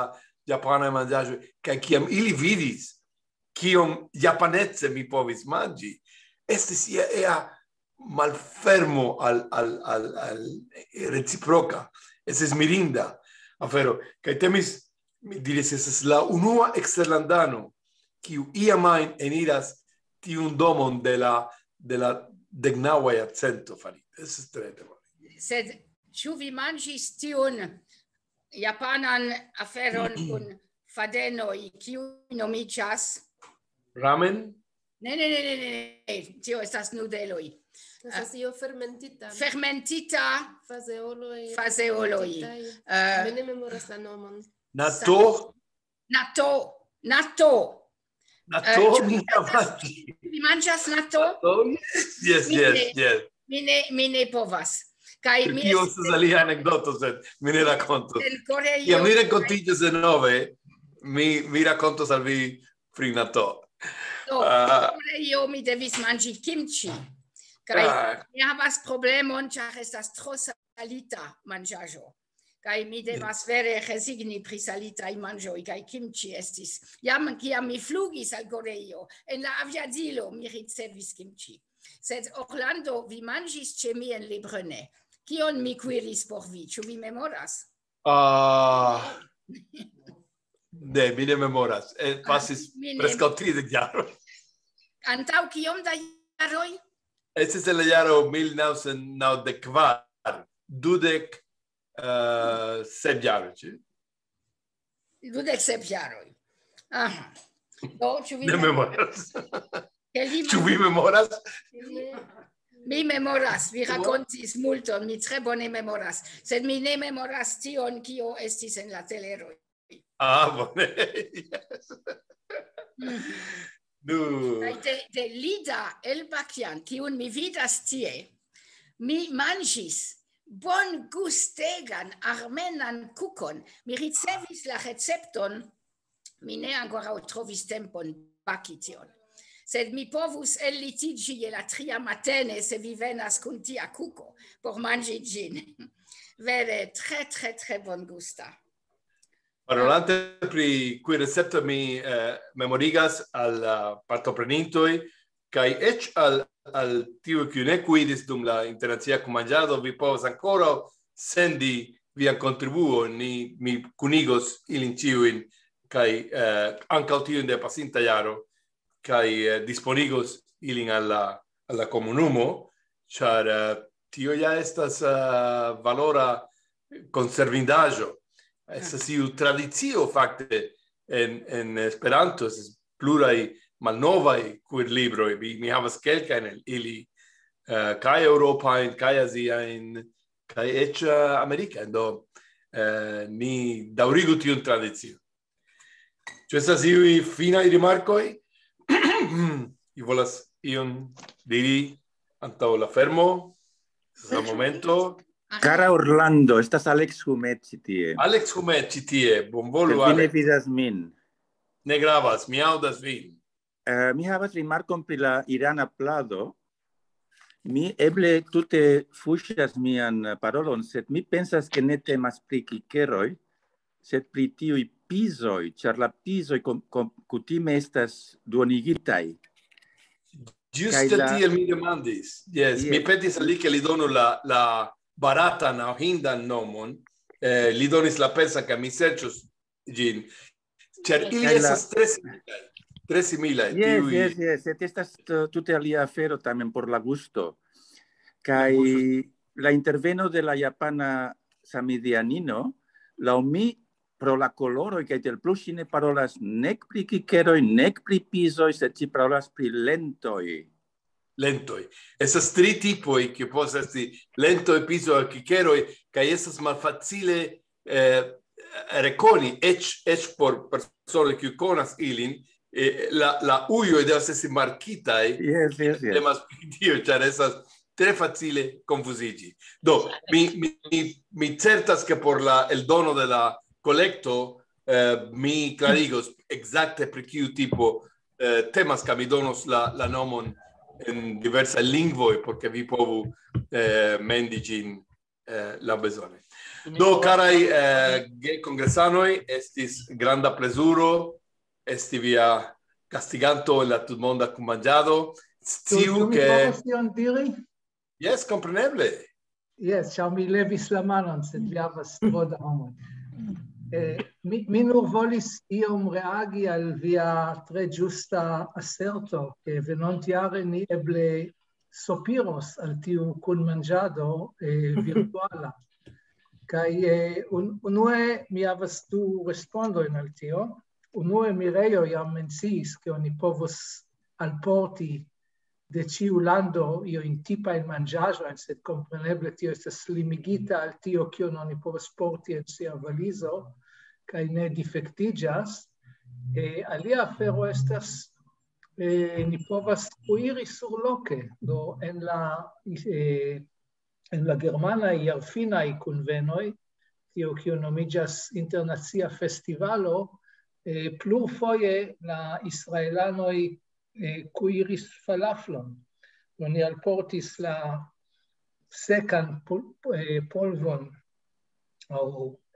japanaj manĝaĵoj. Kaj kiam ili vidis, kiom japanece mi povis manĝi, estis ia ea malfermo al, al, al, al reciproka. Estis mirinda afero. Kaj temis, mi diris, estas la unua eksterlandano, kiu iam ajn eniras tiun domon de la, de la deknaŭa jarcento farite. Estas tre, tre bone. Sed ĉu vi manĝis tiun japanan aferon kun fadenoj, kiu nomiĝas? Ramen? Ne, ne, ne, ne, ne, ne. Tio estas nudeloj. Estas io fermentita. Fermentita. Fazeoloj. Fazeoloj. Fermentitaj. Eh, mi ne memoras la nomon. Nato? Nato. Nato. Nato, eh, ĉu mi vi manĝas, manĝas? Vi manĝas nato? Nato? Yes, yes, mi ne, yes. Mi ne, mi ne povas. Kaj pri mi tio estas alia anekdoto, sed mi ne rakontos. En Koreio. Kiam mi renkontiĝos denove, mi, mi rakontos al vi pri nato. Do, ah, en Koreio mi devis manĝi kimchi. Kaj, ah, mi havas problemon, ĉar estas tro salita manĝaĵo. Kaj mi devas vere rezigni pri salitaj manĝoj, kaj kimchi estis. Jam kiam mi flugis al Koreio, en la aviadilo mi ricevis kimchi. Sed Orlando, vi manĝis ĉe mi en Lebrune. Kion mi kuiris por vi? Ĉu vi memoras? Ah, ne, mi ne memoras. Eh, pasis, ah, mi ne, preskaŭ tridek jaroj. Antaŭ kiom da jaroj? Estis en la jaro mil naŭcent naŭdek kvar, dudek, eh, sep jaroj, ĉu? Dudek sep jaroj. Aha. Do, ĉu vi ne memoras? Ke li... Ĉu vi memoras? Mi memoras, vi rakontis multon, mi tre bone memoras, sed mi ne memoras tion, kio estis en la teleroj. Ah, bone. Yes. Nu, Kaj de, de Lida Elbakian, kiun mi vidas tie, mi manĝis bongustegan armenan kukon. Mi ricevis la recepton, mi ne ankoraŭ trovis tempon baki tion. Sed mi povus ellitiĝi je la tria matene, se vi venas kun tia kuko por manĝi ĝin. Vere tre, tre, tre bongusta. Parolante pri kui recepto, mi eh, memorigas al la partoprenintoj kaj eĉ al, al tiuj, kiuj ne kuidis dum la internacia kunmanĝado, vi povas ankoraŭ sendi vian kontribuon, ni, mi kunigos ilin ĉiujn, kaj eh, ankaŭ tiujn de pasinta jaro, kaj eh, disponigos ilin al la, al la komunumo, ĉar eh, tio ja estas eh, valora konservindaĵo. Estas iu tradicio fakte en, en Esperanto, estas pluraj malnovaj kuirlibroj. Mi, mi havas kelkajn el ili, eh, kaj eŭropajn, kaj aziajn, kaj eĉ eh, amerikajn. Do eh, ni daŭrigu tiun tradicion. Ĉu estas iuj finaj rimarkoj? Vi volas ion diri antaŭ la fermo? Estas la momento. Cara Orlando, estas Alex Humet ĉi tie. Alex Humet ĉi tie, bonvolu, Vi ne Alex. Vidas min. Ne gravas, mi aŭdas vin. Eh, mi havas rimarkon pri la irana plado. Mi eble tute fuŝas mian parolon, sed mi pensas, ke ne temas pri kikeroj, sed pri tiuj pizoj, ĉar la pizoj kom, kom, kutime estas duonigitaj. Ĝuste Kaj la- tiel mi demandis. Yes, Yes. Mi petis al li, ke li donu la, la baratan aŭ hindan nomon. Eh, li donis la persan, kaj mi serĉos ĝin. Ĉar ili Kaj la- estas tre similaj. Tre similaj. Yes, tiuj- yes, yes. Sed estas t-, tute alia afero tamen por la gusto. Kaj La gusto. La interveno de la japana samideanino, laŭ mi, pro la koloroj kaj tiel plu, ŝi ne parolas nek pri kikeroj, nek pri pizoj, sed ŝi parolas pri lentoj. Lentoj. Estas tri tipoj, kiuj povas esti lentoj, pizoj, kikeroj, kaj estas malfacile eh, rekoni, eĉ, eĉ por personoj, kiuj konas ilin, eh, la, la ujoj devas esti markitaj. Yes, yes, yes. Temas pri tio, ĉar estas tre facile konfuziĝi. Do, mi, mi, mi, mi certas, ke por la eldono de la kolekto, eh, mi klarigos ekzakte pri kiu tipo eh, temas, kaj mi donos la, la nomon en diversaj lingvoj, por ke vi povu eh, mendi ĝin eh, laŭbezone. Do, karaj eh, gekongresanoj, estis granda plezuro esti via gastiganto en la tutmonda kunmanĝado. Sciu, Sciu, mi ke povas ion diri? Jes, kompreneble. Jes, ĉar mi levis la manon, sed vi havas tro da homoj. Eh, mi, mi nur volis iom reagi al via tre ĝusta aserto, ke venontjare ni eble sopiros al tiu kunmanĝado eh, virtuala. Kaj eh, un, unue mi havas du respondojn al tio. Unue Mirejo jam menciis, ke oni povos alporti de ĉiu lando iujn tipajn manĝaĵojn, sed kompreneble tio estas limigita al tio, kion oni povas porti en sia valizo, kaj ne difektiĝas. Eh, alia afero estas, eh, ni povas kuiri surloke, do en la, eh, en la germanaj jarfinaj kunvenoj, tio kio nomiĝas internacia festivalo, eh, plurfoje la israelanoj eh, kuiris falaflon. Oni alportis la sekan pol, eh, polvon aŭ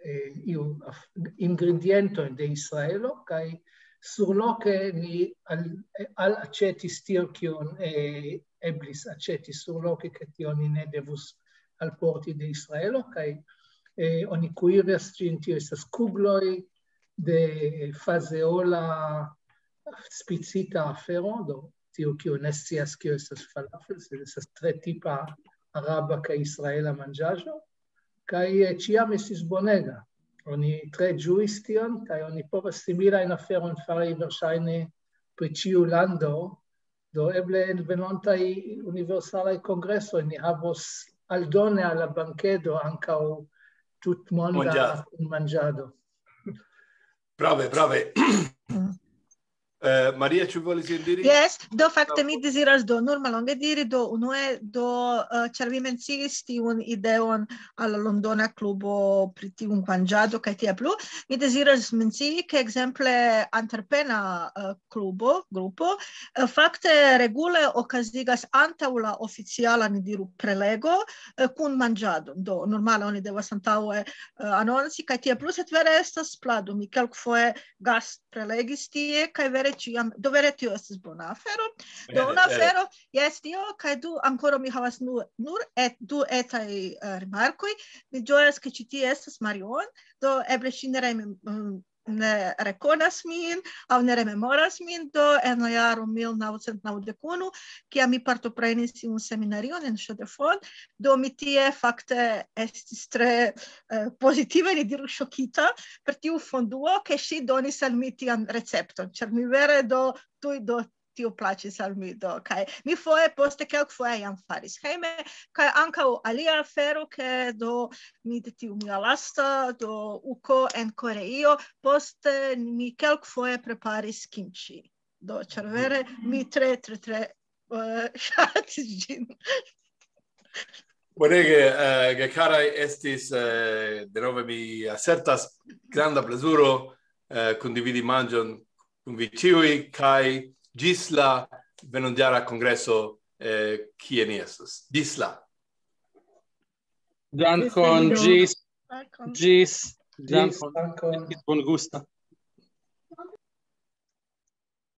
eh, iu af- ingredientojn de Israelo, kaj surloke ni al, eh, al aĉetis tion, kion eh, eblis aĉeti surloke, ke tion ni ne devus alporti de Israelo, kaj eh, oni kuiras ĝin, tio estas kugloj de fazeola spicita afero, do tio, kiu ne scias, kio estas falafel, sed estas tre tipa araba kaj israela manĝaĵo, kaj eh, ĉiam estis bonega. Oni tre ĝuis tion, kaj oni povas similajn aferojn fari verŝajne pri ĉiu lando. Do eble en venontaj universalaj kongresoj ni havos aldone al la bankedo ankaŭ tutmonda Mondial. Manĝado. Brave, brave. Eh, Maria, ĉu volis ion diri? Yes, do fakte mi deziras do nur mallonge diri, do unue do uh, ĉar vi menciis tiun ideon al la Londona klubo pri tiu manĝado kaj tiel plu, mi deziras mencii ke ekzemple Antverpena uh, klubo, grupo, uh, fakte regule okazigas antaŭ la oficiala, ni diru, prelego uh, kun manĝado. Do normale oni devas antaŭe uh, anonci kaj tiel plu, sed vere estas plado. Mi kelkfoje gast prelegis tie, kaj vere ĉiam, do vere tio estis bona afero. Do una afero, jes, tio, kaj du, ankoraŭ mi havas nur, nur et, du etaj uh, rimarkoj. Mi ĝojas, ke ĉi tie estas Marion, do eble ŝi ne, rem, mm, ne rekonas min aŭ ne rememoras min, do en la jaro mil naŭcent naŭdek unu, kiam mi partoprenis tiun seminarion en Chaux-de-Fonds, do mi tie fakte estis tre uh, pozitive, ni diru, ŝokita per tiu fonduo, ke ŝi donis al mi tian recepton, ĉar mi vere do tuj do tio plaĉis al mi do, kaj mi foje poste kelkfoje jam faris hejme, kaj ankaŭ alia afero, ke do mi de tiu mia lasta do uko en Koreio, poste mi kelkfoje preparis kimchi. Do, ĉar vere mi tre, tre, tre uh, ŝatis ĝin. Bonege, uh, gekaraj estis, uh, denove mi asertas, granda plezuro uh, kondividi manĝon kun vi ĉiuj, kaj ĝis la venonjara kongreso, uh, kie ni estos. Ĝis la. Dankon, ĝis, ĝis, dankon. Bongusta.